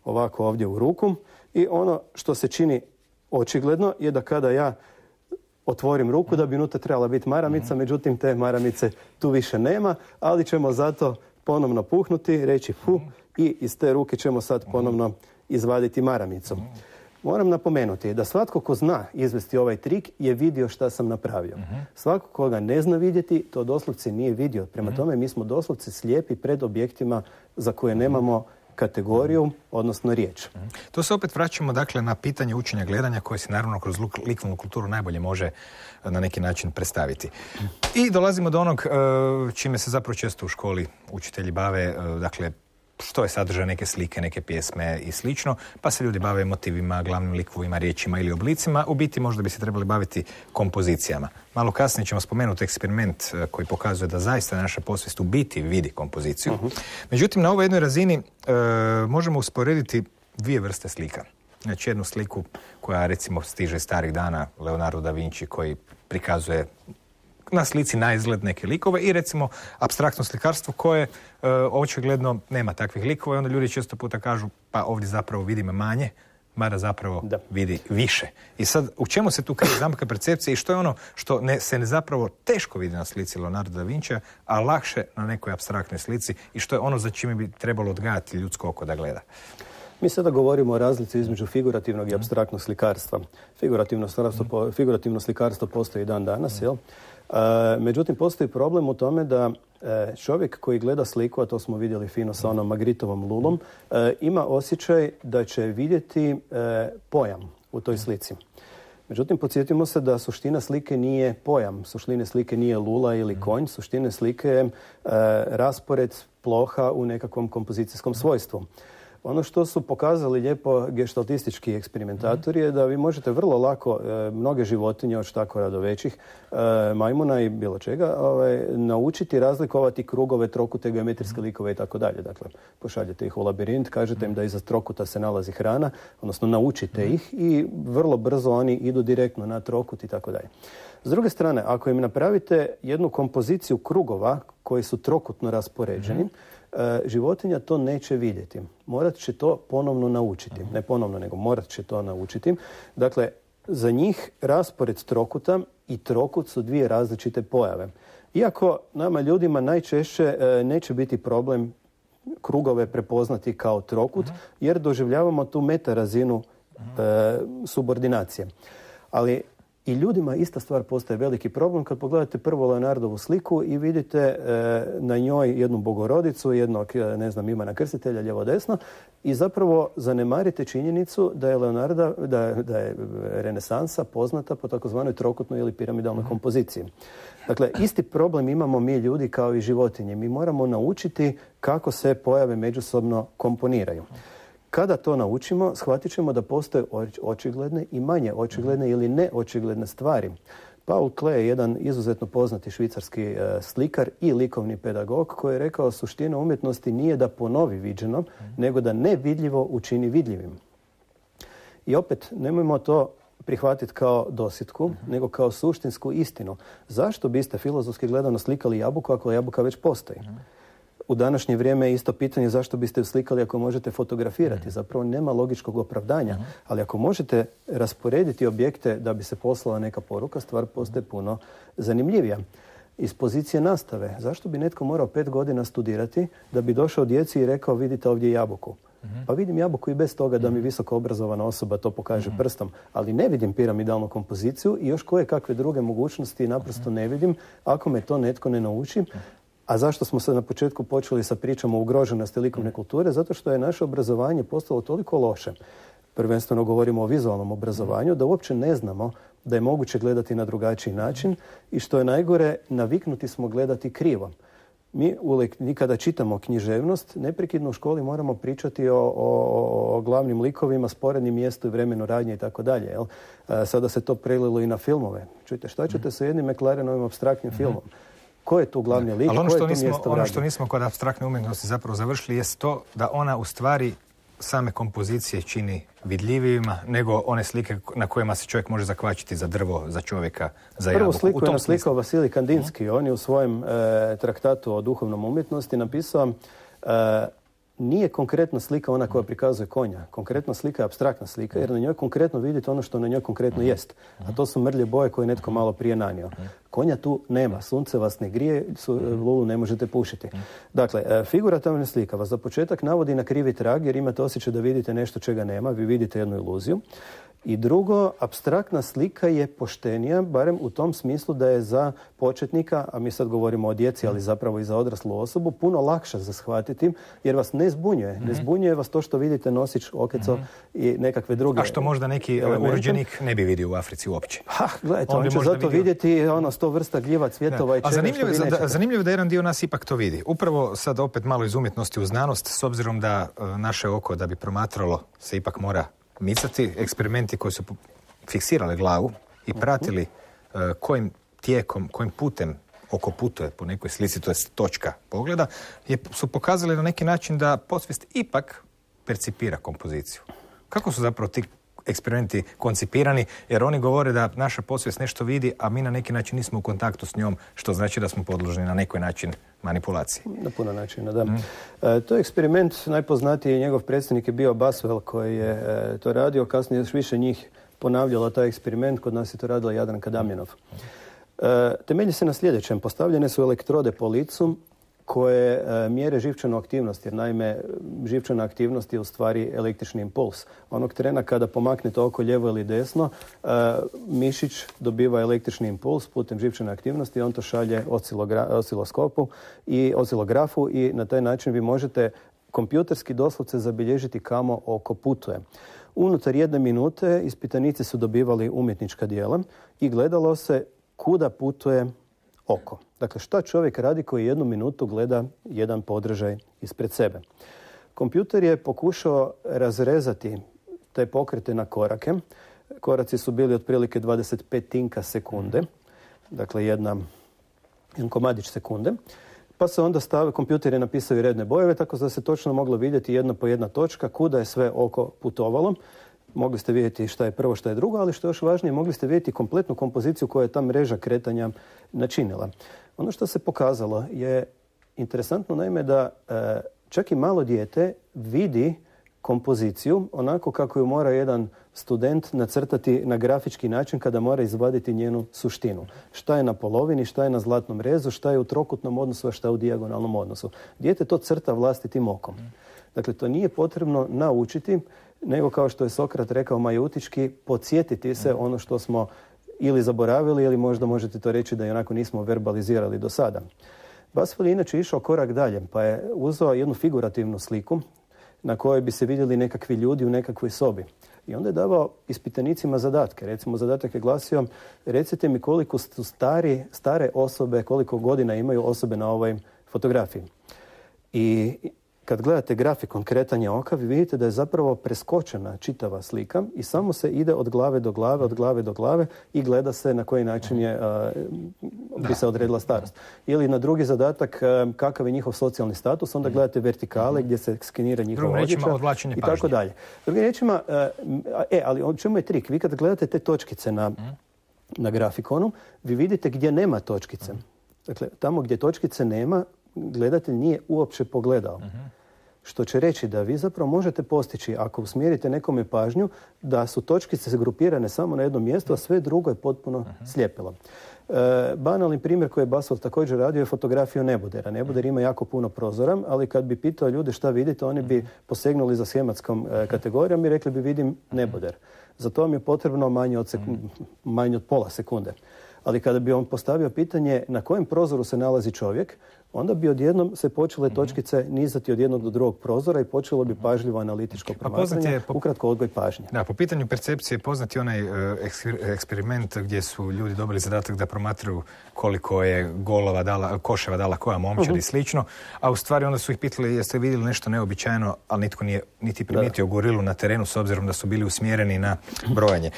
[SPEAKER 2] ovako ovdje u ruku i ono što se čini očigledno je da kada ja otvorim ruku da bi unutra trebala biti maramica, međutim te maramice tu više nema, ali ćemo zato ponovno puhnuti, reći fu i iz te ruke ćemo sad ponovno izvaditi maramicu. Moram napomenuti da svatko ko zna izvesti ovaj trik je vidio šta sam napravio. Svako koga ne zna vidjeti, to doslovce nije vidio. Prema tome mi smo doslovce slijepi pred objektima za koje nemamo kategoriju, odnosno riječ.
[SPEAKER 1] To se opet vraćamo dakle na pitanje učenja gledanja koje se naravno kroz likovnu kulturu najbolje može na neki način predstaviti. I dolazimo do onog čime se zapravo često u školi učitelji bave, dakle što je sadržaj neke slike, neke pjesme i slično, pa se ljudi bave motivima, glavnim likovima, riječima ili oblicima. U biti možda bi se trebali baviti kompozicijama. Malo kasnije ćemo spomenuti eksperiment koji pokazuje da zaista naša posvijest u biti vidi kompoziciju. Međutim, na ovoj jednoj razini možemo usporediti dvije vrste slika. Znači jednu sliku koja recimo stiže starih dana, Leonardo da Vinci, koji prikazuje na slici na izgled neke likove, i recimo apstraktno slikarstvo koje očigledno nema takvih likova, i onda ljudi često puta kažu pa ovdje zapravo vidimo manje, mada zapravo vidi više. I sad, u čemu se tu krije zamka percepcije i što je ono što se zapravo teško vidi na slici Leonardo da Vincija, a lakše na nekoj apstraktnoj slici, i što je ono za čime bi trebalo odgajati ljudsko oko da gleda?
[SPEAKER 2] Mi sada govorimo o razlici između figurativnog i apstraktnog slikarstva. Figurativno slikarstvo postoji dan danas, jel? Međutim, postoji problem u tome da čovjek koji gleda sliku, a to smo vidjeli fino sa onom Magritovom lulom, ima osjećaj da će vidjeti pojam u toj slici. Međutim, podsjetimo se da suština slike nije pojam, suština slike nije lula ili konj, suština slike je raspored ploha u nekakvom kompozicijskom svojstvu. Ono što su pokazali lijepo geštaltistički eksperimentatori je da vi možete vrlo lako mnoge životinje, od štakora do većih, majmuna i bilo čega, naučiti razlikovati krugove, trokute, geometrijske likove i tako dalje. Dakle, pošaljete ih u labirint, kažete im da iza trokuta se nalazi hrana, odnosno naučite ih i vrlo brzo oni idu direktno na trokut i tako dalje. S druge strane, ako im napravite jednu kompoziciju krugova koji su trokutno raspoređeni, životinja to neće vidjeti. Morat će to ponovno naučiti. Ne ponovno, nego morat će to naučiti. Dakle, za njih raspored trokuta i trokut su dvije različite pojave. Iako nama ljudima najčešće neće biti problem krugove prepoznati kao trokut, jer doživljavamo tu meta razinu subordinacije. Ali i ljudima ista stvar postaje veliki problem kad pogledate prvo Leonardovu sliku i vidite na njoj jednu bogorodicu, jednog, ne znam, Ivana Krstitelja, lijevo desno, i zapravo zanemarite činjenicu da je da je renesansa poznata po takozvanoj trokutnoj ili piramidalnoj kompoziciji. Dakle, isti problem imamo mi ljudi kao i životinje. Mi moramo naučiti kako se pojave međusobno komponiraju. Kada to naučimo, shvatit ćemo da postoje očigledne i manje očigledne ili neočigledne stvari. Paul Klee je jedan izuzetno poznati švicarski slikar i likovni pedagog koji je rekao suština umjetnosti nije da ponovi viđeno, nego da nevidljivo učini vidljivim. I opet, nemojmo to prihvatiti kao dosjetku, nego kao suštinsku istinu. Zašto biste filozofski gledano slikali jabuku ako jabuka već postoji? U današnje vrijeme je isto pitanje zašto biste ju slikali ako možete fotografirati. Zapravo nema logičkog opravdanja, ali ako možete rasporediti objekte da bi se poslala neka poruka, stvar postaje puno zanimljivija. Iz pozicije nastave, zašto bi netko morao 5 godina studirati da bi došao djeci i rekao vidite ovdje jabuku? Pa vidim jabuku i bez toga da mi visoko obrazovana osoba to pokaže prstom, ali ne vidim piramidalnu kompoziciju i još koje kakve druge mogućnosti naprosto ne vidim ako me to netko ne nauči. A zašto smo se na početku počeli sa pričom o ugroženosti likovne kulture? Zato što je naše obrazovanje postalo toliko loše. Prvenstveno govorimo o vizualnom obrazovanju, da uopće ne znamo da je moguće gledati na drugačiji način i što je najgore, naviknuti smo gledati krivo. Mi kada čitamo književnost, neprekidno u školi moramo pričati o glavnim likovima, sporednim mjestu i vremenu radnje i tako dalje. Sada se to prelilo i na filmove. Čujte, šta ćete sa jednim McLarenovim apstraktnim filmom? Ko je tu glavni lik?
[SPEAKER 1] Ali ono što nismo kod apstraktne umjetnosti zapravo završili jest to da ona u stvari same kompozicije čini vidljivijima nego one slike na kojima se čovjek može zakvačiti za drvo, za čovjeka, za jabuku.
[SPEAKER 2] Prvu sliku je naslikao Vasilij Kandinski. On je u svojem traktatu o duhovnom umjetnosti napisao nije konkretna slika ona koja prikazuje konja. Konkretna slika je apstraktna slika jer na njoj konkretno vidite ono što na njoj konkretno jest. A to su mrlje boje koje je netko malo prije nanio. Konja tu nema. Sunce vas ne grije, lulu ne možete pušiti. Dakle, figurativna slika vas za početak navodi na krivi trag jer imate osjećaj da vidite nešto čega nema. Vi vidite jednu iluziju. I drugo, apstraktna slika je poštenija, barem u tom smislu da je za početnika, a mi sad govorimo o djeci, ali zapravo i za odraslu osobu, puno lakše za shvatiti, jer vas ne zbunjuje. Ne zbunjuje vas to što vidite nosić, okeco i nekakve druge.
[SPEAKER 1] A što možda neki urođenik ne bi vidio u Africi uopće.
[SPEAKER 2] Gledajte, on će zato vidjeti 100 vrsta gljiva, cvjetova i čega što vi nećete.
[SPEAKER 1] Zanimljivo je da jedan dio nas ipak to vidi. Upravo sad opet malo iz umjetnosti u znanost, s obzirom da naše oko da bi promatralo se ipak mora micati, eksperimenti koji su fiksirali glavu i pratili kojim tijekom, kojim putem oko putuje po nekoj slici, to je točka pogleda, su pokazali na neki način da podsvijest ipak percipira kompoziciju. Kako su zapravo ti eksperimenti koncipirani, jer oni govore da naša podsvijest nešto vidi, a mi na neki način nismo u kontaktu s njom, što znači da smo podložni na neki način manipulaciji.
[SPEAKER 2] Na puno načina, da. To je eksperiment, najpoznatiji njegov predsjednik je bio Baswell, koji je to radio, kasnije još više njih ponavljalo taj eksperiment, kod nas je to radila Jadranka Damjanov. Temelji se na sljedećem, postavljene su elektrode po licu koje mjere živčanu aktivnost, jer naime živčana aktivnost je u stvari električni impuls. Onog trena kada pomaknete oko lijevo ili desno, mišić dobiva električni impuls putem živčane aktivnosti i on to šalje osciloskopu i oscilografu i na taj način vi možete kompjuterski doslovce zabilježiti kamo oko putuje. Unutar 1 minute ispitanici su dobivali umjetnička djela i gledalo se kuda putuje oko. Dakle, šta čovjek radi koji 1 minutu gleda jedan podražaj ispred sebe. Kompjuter je pokušao razrezati te pokrete na korake. Koraci su bili otprilike 25 sekunde. Dakle, jedan komadić sekunde. Pa se onda kompjuter je napisao i redne bojeve, tako da se točno moglo vidjeti jedna po jedna točka kuda je sve oko putovalo. Mogli ste vidjeti šta je prvo, šta je drugo, ali što je još važnije, mogli ste vidjeti kompletnu kompoziciju koju je ta mreža kretanja načinila. Ono što se pokazalo je interesantno, naime, da čak i malo dijete vidi kompoziciju onako kako ju mora jedan student nacrtati na grafički način kada mora izvaditi njenu suštinu. Šta je na polovini, šta je na zlatnom rezu, šta je u trokutnom odnosu, a šta je u dijagonalnom odnosu. Dijete to crta vlastitim okom. Dakle, to nije potrebno naučiti, nego kao što je Sokrat rekao majutički, podsjetiti se ono što smo ili zaboravili ili možda možete to reći da i onako nismo verbalizirali do sada. Baswell je inače išao korak dalje, pa je uzeo jednu figurativnu sliku na kojoj bi se vidjeli nekakvi ljudi u nekakvoj sobi. I onda je davao ispitanicima zadatke. Recimo, zadatak je glasio, recite mi koliko su stare osobe, koliko godina imaju osobe na ovoj fotografiji. I kad gledate grafikon kretanja oka, vi vidite da je zapravo preskočena čitava slika i samo se ide od glave do glave, od glave do glave i gleda se na koji način bi se odredila starost. Ili na drugi zadatak, kakav je njihov socijalni status, onda gledate vertikale gdje se skenira njihova odjeća i tako dalje. Drugim riječima, ali o čemu je trik? Vi kad gledate te točkice na grafikonu, vi vidite gdje nema točkice. Dakle, tamo gdje točkice nema, gledatelj nije uopće pogledao. Što će reći da vi zapravo možete postići, ako usmjerite nekome pažnju, da su točkice grupirane samo na jednom mjestu, a sve drugo je potpuno slijepilo. Banalni primjer koji je Baswell također radio je fotografiju nebodera. Neboder ima jako puno prozora, ali kad bi pitao ljude šta vidite, oni bi posegnuli za shematskom kategorijom i rekli bi vidim neboder. Za to vam je potrebno manje od pola sekunde. Ali kada bi on postavio pitanje na kojem prozoru se nalazi čovjek, onda bi odjednom se počele točkice nizati od jednog do drugog prozora i počelo bi pažljivo analitičko promatranje, ukratko odgoj pažnje.
[SPEAKER 1] Da, po pitanju percepcije poznati onaj eksperiment gdje su ljudi dobili zadatak da promatraju koliko je koševa dala koja momčad i slično, a u stvari onda su ih pitali jeste vidjeli nešto neobičajno, ali nitko nije niti primijetio gorilu na terenu s obzirom da su bili usmjereni na brojanje.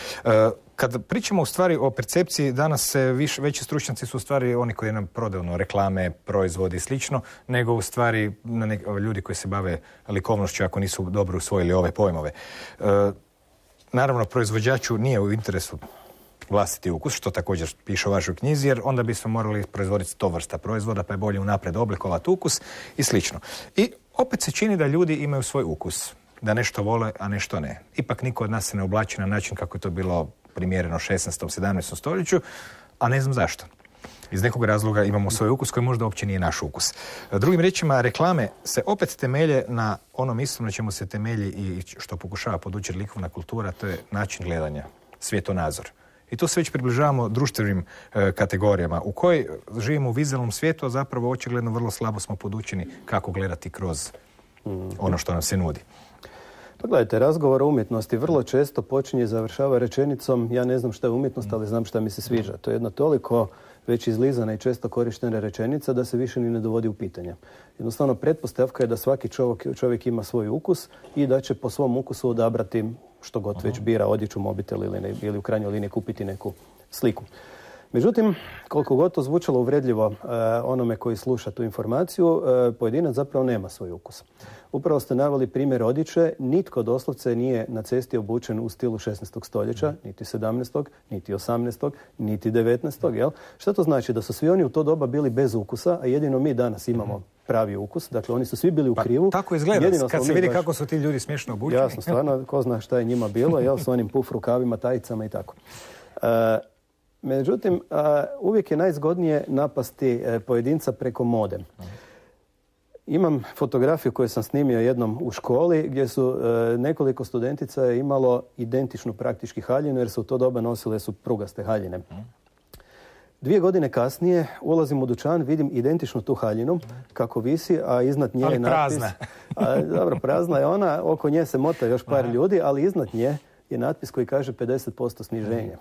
[SPEAKER 1] Kad pričamo u stvari o percepciji, danas se veći stručnjaci su u stvari oni koji nam prodaju reklame, proizvodi i slično, nego u stvari ljudi koji se bave likovnošću ako nisu dobro usvojili ove pojmove. Naravno, proizvođaču nije u interesu vlastiti ukus, što također piše u vašoj knjizi, jer onda bismo morali proizvoditi 100 vrsta proizvoda, pa je bolje unaprijed oblikovati ukus i slično. I opet se čini da ljudi imaju svoj ukus, da nešto vole, a nešto ne. Ipak niko od nas se ne oblači na način kako je to bilo primjereno 16. 17. stoljeću, a ne znam zašto. Iz nekog razloga imamo svoj ukus koji možda uopće nije naš ukus. Drugim riječima, reklame se opet temelje na onom istom na čemu se temelji i što pokušava podučiti likovna kultura, to je način gledanja, svjetonazor. I tu se već približavamo društvenim kategorijama u kojoj živimo u vizualnom svijetu, a zapravo očigledno vrlo slabo smo podučeni kako gledati kroz ono što nam se nudi.
[SPEAKER 2] Pa gledajte, razgovor o umjetnosti vrlo često počinje i završava rečenicom ja ne znam šta je umjetnost, ali znam šta mi se sviđa. To je jedna toliko već izlizana i često korištena rečenica da se više ni ne dovodi u pitanje. Jednostavno, pretpostavka je da svaki čovjek ima svoj ukus i da će po svom ukusu odabrati što god već bira, odjeću, mobitel ili u krajnjoj liniji kupiti neku sliku. Međutim, koliko god to zvučalo uvredljivo onome koji sluša tu informaciju, pojedinac zapravo nema svoj ukus. Upravo ste naveli primjer odjeće, nitko doslovce nije na cesti obučen u stilu 16. stoljeća, niti 17. niti 18. niti 19. Jel? Šta to znači? Da su svi oni u to doba bili bez ukusa, a jedino mi danas imamo pravi ukus. Dakle, oni su svi bili u krivu.
[SPEAKER 1] Pa, tako izgleda, kad se vidi kako su ti ljudi smiješno obučeni.
[SPEAKER 2] Jasno, stvarno, ko zna šta je njima bilo, jel, s onim puf rukavima, tajicama i tako. Međutim, uvijek je najzgodnije napasti pojedinca preko mode. Imam fotografiju koju sam snimio jednom u školi gdje su nekoliko studentica je imalo identičnu praktički haljinu jer su u to doba nosile su prugaste haljine. 2 godine kasnije ulazim u dućan, vidim identičnu tu haljinu kako visi, a iznad nje je natpis. Dobro, prazna je ona, oko nje se mota još par ljudi, ali iznad nje je natpis koji kaže 50% sniženja.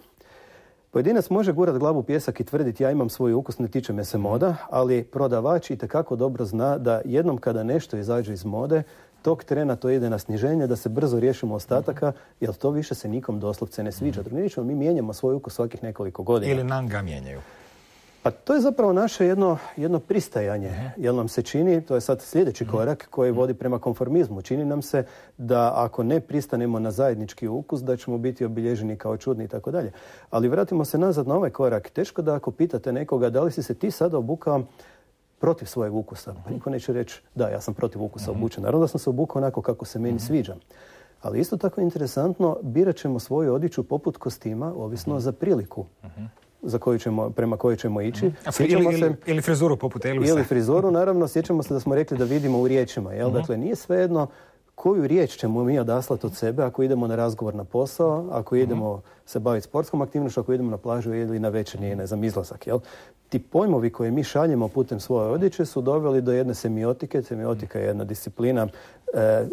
[SPEAKER 2] Pojedinac može gurat glavu u pijesak i tvrditi ja imam svoj ukus, ne tiče me se moda, ali prodavač itekako dobro zna da jednom kada nešto izađe iz mode, tog trena to ide na sniženje, da se brzo riješimo ostataka, jer to više se nikom doslovce ne sviđa. Mi mijenjamo svoj ukus svakih nekoliko godina.
[SPEAKER 1] Ili nam ga mijenjaju.
[SPEAKER 2] Pa to je zapravo naše jedno pristajanje, jer nam se čini, to je sad sljedeći korak koji vodi prema konformizmu. Čini nam se da ako ne pristanemo na zajednički ukus, da ćemo biti obilježeni kao čudni i tako dalje. Ali vratimo se nazad na ovaj korak. Teško da ako pitate nekoga da li si se ti sada obukao protiv svojeg ukusa. Pa niko neće reći da, ja sam protiv ukusa obučen. Naravno da sam se obukao onako kako se meni sviđa. Ali isto tako interesantno, birat ćemo svoju odjeću poput kostima, ovisno za priliku. Prema kojoj ćemo ići.
[SPEAKER 1] Ili frizuru poput Elvisa.
[SPEAKER 2] Ili frizuru, naravno, sjećamo se da smo rekli da vidimo u riječima. Jel? Dakle, nije svejedno koju riječ ćemo mi odaslati od sebe ako idemo na razgovor na posao, ako idemo se baviti sportskom aktivnošću, ako idemo na plažu ili na večernji, ne znam, izlazak. Jel? Ti pojmovi koje mi šaljemo putem svoje odjeće su doveli do jedne semiotike. Semiotika je jedna disciplina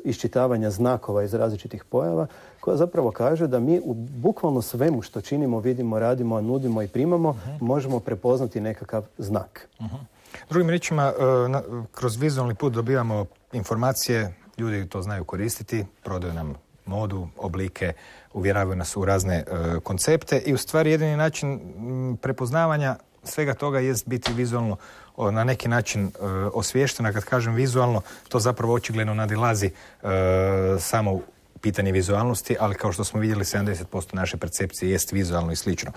[SPEAKER 2] iščitavanja znakova iz različitih pojava koja zapravo kaže da mi u bukvalno svemu što činimo, vidimo, radimo, nudimo i primamo možemo prepoznati nekakav znak.
[SPEAKER 1] Drugim riječima, kroz vizualni put dobivamo informacije, ljudi to znaju koristiti, prodaju nam modu, oblike, uvjeravaju nas u razne koncepte i u stvari jedini način prepoznavanja svega toga jest biti vizualno na neki način osviještena. Kad kažem vizualno, to zapravo očigledno nadilazi samo pitanje vizualnosti, ali kao što smo vidjeli, 70% naše percepcije jest vizualno i slično.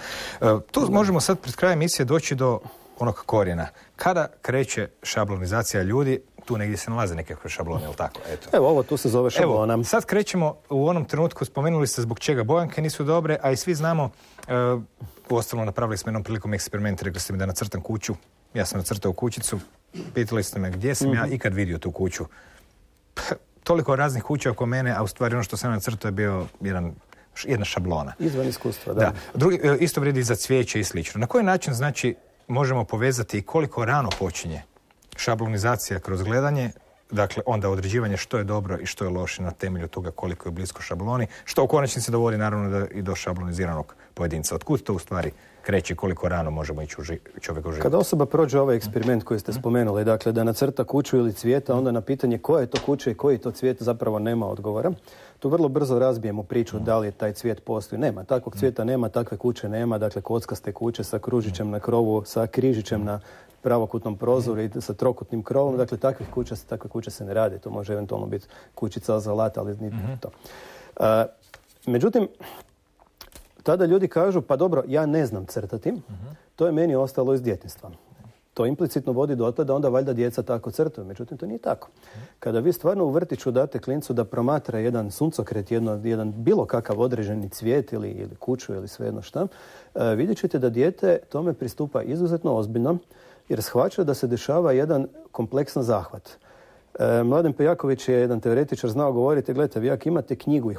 [SPEAKER 1] Tu možemo sad pred krajem emisije doći do onog korijena. Kada kreće šablonizacija ljudi, tu negdje se nalaze nekakve šablone, ili tako?
[SPEAKER 2] Evo, ovo tu se zove šablona.
[SPEAKER 1] Evo, sad krećemo u onom trenutku, spomenuli ste zbog čega bojanke nisu dobre, a i svi znamo, uostalom napravili smo jednom prilikom eksperiment, rekli ste mi da nacrtam kuću, ja sam nacrtao kućicu, pitali ste me gdje sam ja ikad vidio tu kuću. Toliko raznih kuća oko mene, a u stvari ono što sam nacrtao je bio jedna šablona.
[SPEAKER 2] Izvan iskustva, da.
[SPEAKER 1] Isto vrijedi i za cvijeće i slično. Na koji način, znači, možemo povezati i koliko rano počinje šablonizacija kroz gledanje, dakle onda određivanje što je dobro i što je loše na temelju toga koliko je blisko šabloni, što u konačnici dovodi naravno i do šabloniziranog pojedinca. Otkud to u stvari kreće, koliko rano možemo ići čovjek u život?
[SPEAKER 2] Kada osoba prođe ovaj eksperiment koji ste spomenuli, dakle da nacrta kuću ili cvijeta, onda na pitanje koja je to kuća i koji je to cvijet zapravo nema odgovora. Tu vrlo brzo razbijemo priču da li je taj cvijet postoji. Nema, takvog cvijeta nema, takve kuće nema, dakle kockaste kuće sa kružićem na krovu, sa križićem na pravokutnom prozoru i sa trokutnim krovom, dakle takve kuće se ne rade. To može eventualno biti kućica za lat, ali nije to. Međutim, tada ljudi kažu, pa dobro, ja ne znam crtati, to je meni ostalo iz djetinjstva. To implicitno vodi do toga da onda valjda djeca tako crtaju. Međutim, to nije tako. Kada vi stvarno u vrtiću date klincu da promatra jedan suncokret, jedan bilo kakav određeni cvijet ili kuću ili svejedno šta, vidjet ćete da dijete tome pristupa izuzetno ozbiljno, jer shvaća da se dešava jedan kompleksan zahvat. Mladen Pejaković je jedan teoretičar znao govoriti, gledajte, vi ako imate knjigu,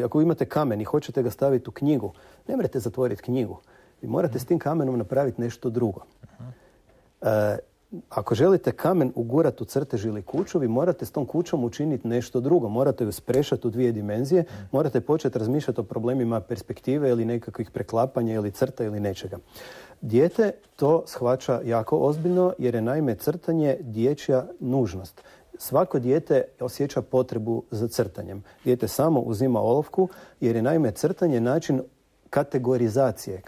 [SPEAKER 2] ako imate kamen i hoćete ga staviti u knjigu, ne morate zatvoriti knjigu. Vi morate s tim kamenom napraviti nešto drugo. Ako želite kamen ugurati u crtež ili kuću, vi morate s tom kućom učiniti nešto drugo. Morate ju sprešati u 2 dimenzije, morate početi razmišljati o problemima perspektive ili nekakvih preklapanja ili crta ili nečega. Dijete to shvaća jako ozbiljno jer je naime crtanje dječja nužnost. Svako dijete osjeća potrebu za crtanjem. Dijete samo uzima olovku jer je naime crtanje način kategorizacije,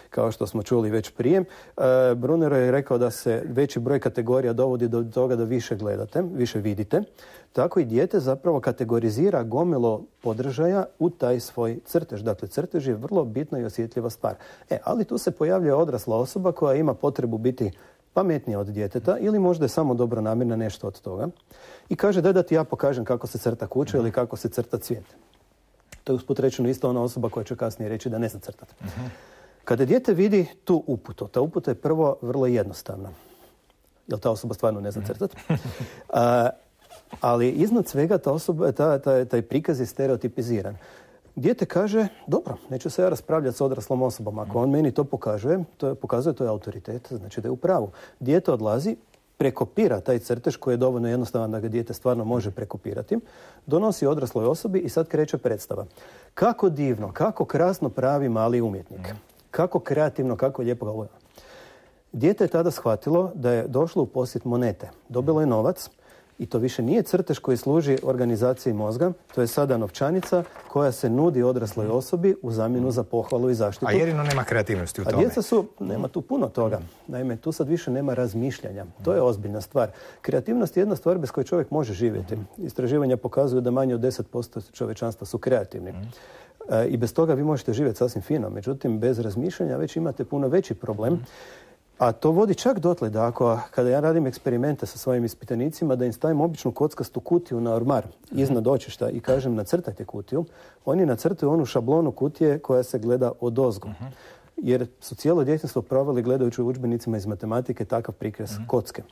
[SPEAKER 2] kao što smo čuli već prije. Brunero je rekao da se veći broj kategorija dovodi do toga da više gledate, više vidite. Tako i dijete zapravo kategorizira gomilo podržaja u taj svoj crtež. Dakle, crtež je vrlo bitna i osjetljiva stvar. Ali tu se pojavljuje odrasla osoba koja ima potrebu biti pametnija od djeteta ili možda je samo dobronamjerna nešto od toga i kaže da ti ja pokažem kako se crta kuća ili kako se crta cvijet. To je usput rečeno isto ona osoba koja će kasnije reći da ne zna crtati. Kada dijete vidi tu uputu, ta uputa je prvo vrlo jednostavna. Jer ta osoba stvarno ne zna crtati. Ali iznad svega taj prikaz je stereotipiziran. Dijete kaže, dobro, neću se ja raspravljati s odraslom osobom. Ako on meni to pokazuje, to je autoritet, znači da je u pravu. Dijete odlazi, prekopira taj crtež koji je dovoljno jednostavan da ga dijete stvarno može prekopirati, donosi odrasloj osobi i sad kreće predstava. Kako divno, kako krasno pravi mali umjetnik. Kako kreativno, kako lijepo ga uveo. Dijete je tada shvatilo da je došlo u posjet monete. Dobilo je novac i to više nije crtež koji služi organizaciji mozga, to je sada novčanica koja se nudi odrasloj osobi u zamjenu za pohvalu i zaštitu.
[SPEAKER 1] A jedino nema kreativnosti u tome.
[SPEAKER 2] A djeca nema tu puno toga. Naime, tu sad više nema razmišljanja. To je ozbiljna stvar. Kreativnost je jedna stvar bez koje čovjek može živjeti. Istraživanja pokazuju da manje od 10% čovječanstva su kreativni. I bez toga vi možete živjeti sasvim fino. Međutim, bez razmišljanja već imate puno veći problem. A to vodi čak dotle da kada ja radim eksperimente sa svojim ispitanicima, da im stavim običnu kockastu kutiju na ormar iznad očišta i kažem nacrtajte kutiju, oni nacrtaju onu šablonu kutije koja se gleda odozgo. Jer su cijelo djetinjstvo proveli gledajući u udžbenicima iz matematike takav prikaz kocke.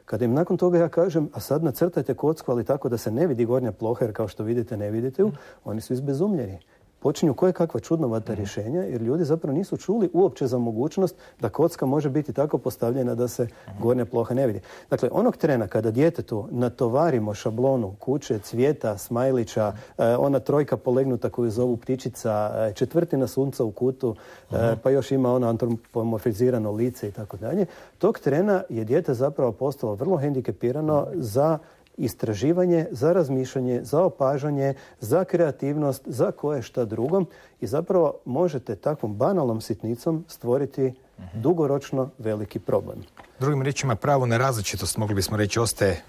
[SPEAKER 2] Kada im nakon toga ja kažem, a sad nacrtajte kocku, ali tako da se ne vidi gornja ploha, jer kao što vidite ne vidite ju, oni su izbezumljeni. Počinju koje kakva čudnovata rješenja, jer ljudi zapravo nisu čuli uopće za mogućnost da kocka može biti tako postavljena da se gornja ploha ne vidi. Dakle, onog trena kada djetetu natovarimo šablonu kuće, cvijeta, smajlića, ona trojka polegnuta koju zovu ptičica, četvrtina sunca u kutu, pa još ima ono antropomorfizirano lice i tako dalje, tog trena je dijete zapravo postalo vrlo hendikepirano za istraživanje, za razmišljanje, za opažanje, za kreativnost, za koje šta drugo i zapravo možete takvom banalnom sitnicom stvoriti dugoročno veliki problem.
[SPEAKER 1] Drugim riječima, pravo na različitost, mogli bismo reći, ostaje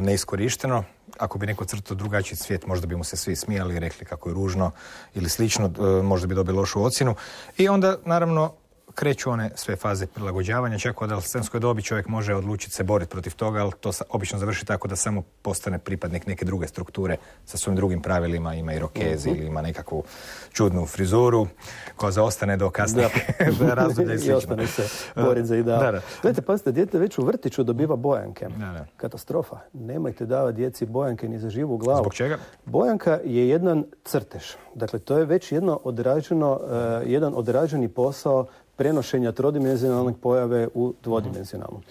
[SPEAKER 1] neiskorišteno. Ako bi neko crtao drugačiji cvijet, možda bi mu se svi smijali i rekli kako je ružno ili slično, možda bi dobili lošu ocjenu. I onda, naravno, kreću one sve faze prilagođavanja, čak od adolescentskoj dobi čovjek može odlučiti se boriti protiv toga, ali to obično završi tako da samo postane pripadnik neke druge strukture sa svojim drugim pravilima, ima irokez ili ima nekakvu čudnu frizuru koja zaostane do kasnije razdoblja i slično.
[SPEAKER 2] I ostane se boriti za ideal. Gledajte, pazite, dijete već u vrtiću dobiva bojanke. Katastrofa. Nemojte davati djeci bojanke ni za živu glavu.
[SPEAKER 1] Zbog čega?
[SPEAKER 2] Bojanka je jedan crtež. Dakle, to je već jedan odrađeni posao prenošenja trodimenzionalne pojave u dvodimenzionalnu.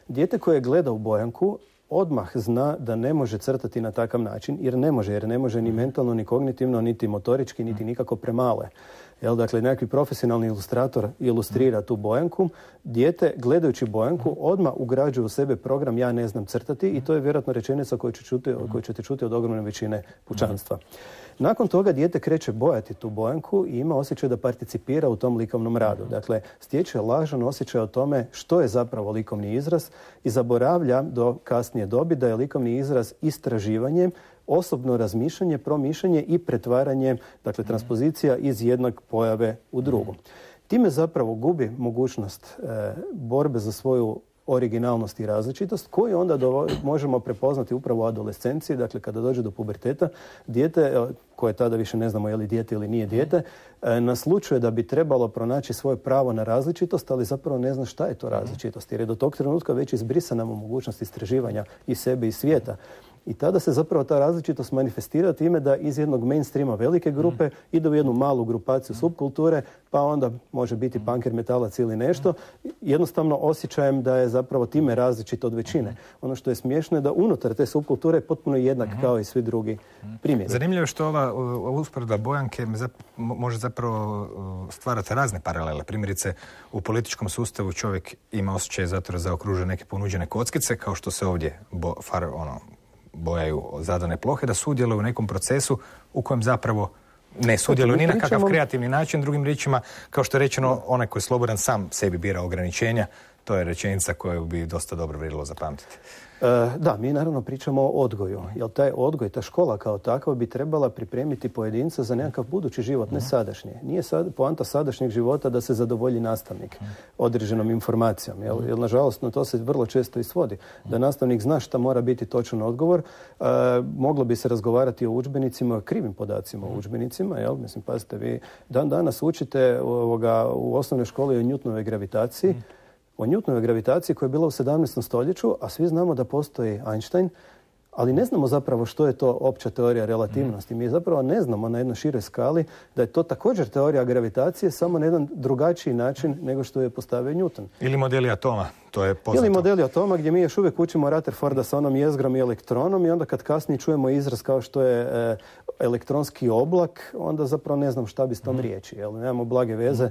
[SPEAKER 2] Dijete koje gleda u bojanku odmah zna da ne može crtati na takav način, jer ne može ni mentalno, ni kognitivno, niti motorički, niti nikako premale. Dakle, nekakvi profesionalni ilustrator ilustrira tu bojanku. Dijete, gledajući bojanku, odmah ugrađuje u sebe program ja ne znam crtati i to je vjerojatno rečenica koju ćete čuti od ogromne većine pučanstva. Nakon toga dijete kreće bojati tu bojanku i ima osjećaj da participira u tom likovnom radu. Dakle, stječe lažan osjećaj o tome što je zapravo likovni izraz i zaboravlja do kasnije dobi da je likovni izraz istraživanje, osobno razmišljanje, promišljanje i pretvaranje, dakle transpozicija iz jednog pojave u drugu. Time zapravo gubi mogućnost borbe za svoju originalnost i različitost koju onda možemo prepoznati upravo u adolescenciji, dakle kada dođe do puberteta, dijete, koje tada više ne znamo je li dijete ili nije dijete, naslučuje da bi trebalo pronaći svoje pravo na različitost, ali zapravo ne zna šta je to različitost, jer je do tog trenutka već izbrisana mu mogućnost istraživanja i sebe i svijeta. I tada se zapravo ta različitost manifestira time da iz jednog mainstreama velike grupe ide u jednu malu grupaciju subkulture, pa onda može biti punker, metalac ili nešto, jednostavno osjećajem da je zapravo time različit od većine. Ono što je smiješno je da unutar te subkulture je potpuno jednak kao i svi drugi primjeri.
[SPEAKER 1] Zanimljivo je što ova usporedba bojanke može zapravo stvarati razne paralele. Primjerice, u političkom sustavu čovjek ima osjećaj zato da zaokružuje neke ponuđene kockice, kao što se ovdje bojaju zadane plohe, da sudjeluju u nekom procesu u kojem zapravo ne sudjeluje ni na kakav kreativni način, drugim riječima, kao što je rečeno, onaj koji je slobodan sam sebi bira ograničenja, to je rečenica koju bi dosta dobro vrijedilo zapamtiti.
[SPEAKER 2] Da, mi naravno pričamo o odgoju, jer taj odgoj, ta škola kao takva bi trebala pripremiti pojedinca za nekakav budući život, ne sadašnji. Nije poanta sadašnjeg života da se zadovolji nastavnik određenom informacijom, jer nažalost na to se vrlo često i svodi. Da nastavnik zna šta mora biti točan odgovor, moglo bi se razgovarati o udžbenicima, krivim podacima o udžbenicima, jel? Mislim, pazite, vi danas učite u osnovnoj školi o Newtonovoj gravitaciji, o Newtonovoj gravitaciji koja je bila u 17. stoljeću, a svi znamo da postoji Einstein, ali ne znamo zapravo što je to opća teorija relativnosti. Mi zapravo ne znamo na jednoj široj skali da je to također teorija gravitacije, samo na jedan drugačiji način nego što je postavio Newton.
[SPEAKER 1] Ili modeli atoma, to je poznato.
[SPEAKER 2] Ili modeli atoma gdje mi još uvijek učimo Rutherforda sa onom jezgrom i elektronom i onda kad kasnije čujemo izraz kao što je elektronski oblak, onda zapravo ne znam šta bi s tom riječi. Jel? Nemamo blage veze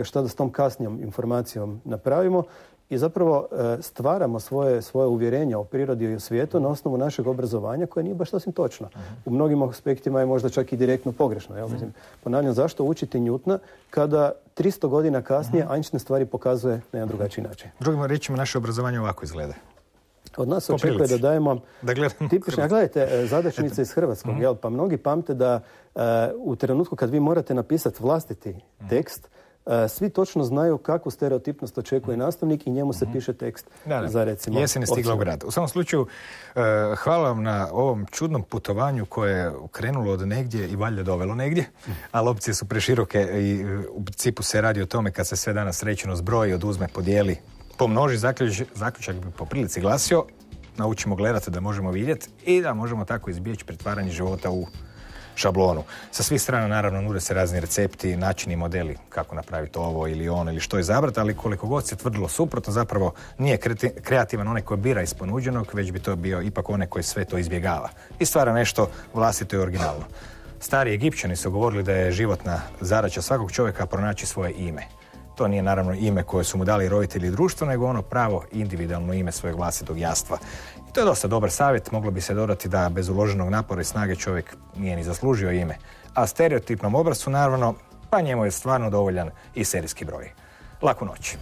[SPEAKER 2] šta da s tom kasnijom informacijom napravimo. I zapravo stvaramo svoje uvjerenja o prirodi i o svijetu na osnovu našeg obrazovanja koje nije baš sasvim točno. U mnogim aspektima je možda čak i direktno pogrešno. Jel? Mislim, ponavljam, zašto učiti Newtona kada 300 godina kasnije Einstein stvari pokazuje na jedan drugačiji način?
[SPEAKER 1] Drugim riječima, naše obrazovanje ovako izgleda.
[SPEAKER 2] Od nas se očekuje da dajemo tipične, gledajte, zadačnice iz hrvatskog, jel? Pa mnogi pamte da u trenutku kad vi morate napisati vlastiti tekst, svi točno znaju kakvu stereotipnost očekuje nastavnik i njemu se piše tekst za recimo...
[SPEAKER 1] Jesen je stigla u grad. U svakom slučaju, hvala vam na ovom čudnom putovanju koje je krenulo od negdje i valjda dovelo negdje, ali opcije su preširoke i u principu se radi o tome kad se sve danas rečeno zbroji, oduzme, podijeli, pomnoži, zaključak bi po prilici glasio, naučimo gledati da možemo vidjeti i da možemo tako izbjeći pretvaranje života u šablonu. Sa svih strana naravno nude se razni recepti, načini, modeli kako napraviti ovo ili ono ili što izabrati, ali koliko god se tvrdilo suprotno, zapravo nije kreativan onaj koji bira iz ponuđenog, već bi to bio ipak onaj koji sve to izbjegava i stvara nešto vlastito i originalno. Stari Egipćani su govorili da je životna zadaća svakog čovjeka pronaći svoje ime. To nije naravno ime koje su mu dali roditelji i društvo, nego ono pravo individualno ime svojeg vlastitog jastva. I to je dosta dobar savjet, moglo bi se dodati da bez uloženog napora i snage čovjek nije ni zaslužio ime. A stereotipnom obrascu naravno, pa njemu je stvarno dovoljan i serijski broj. Laku noć.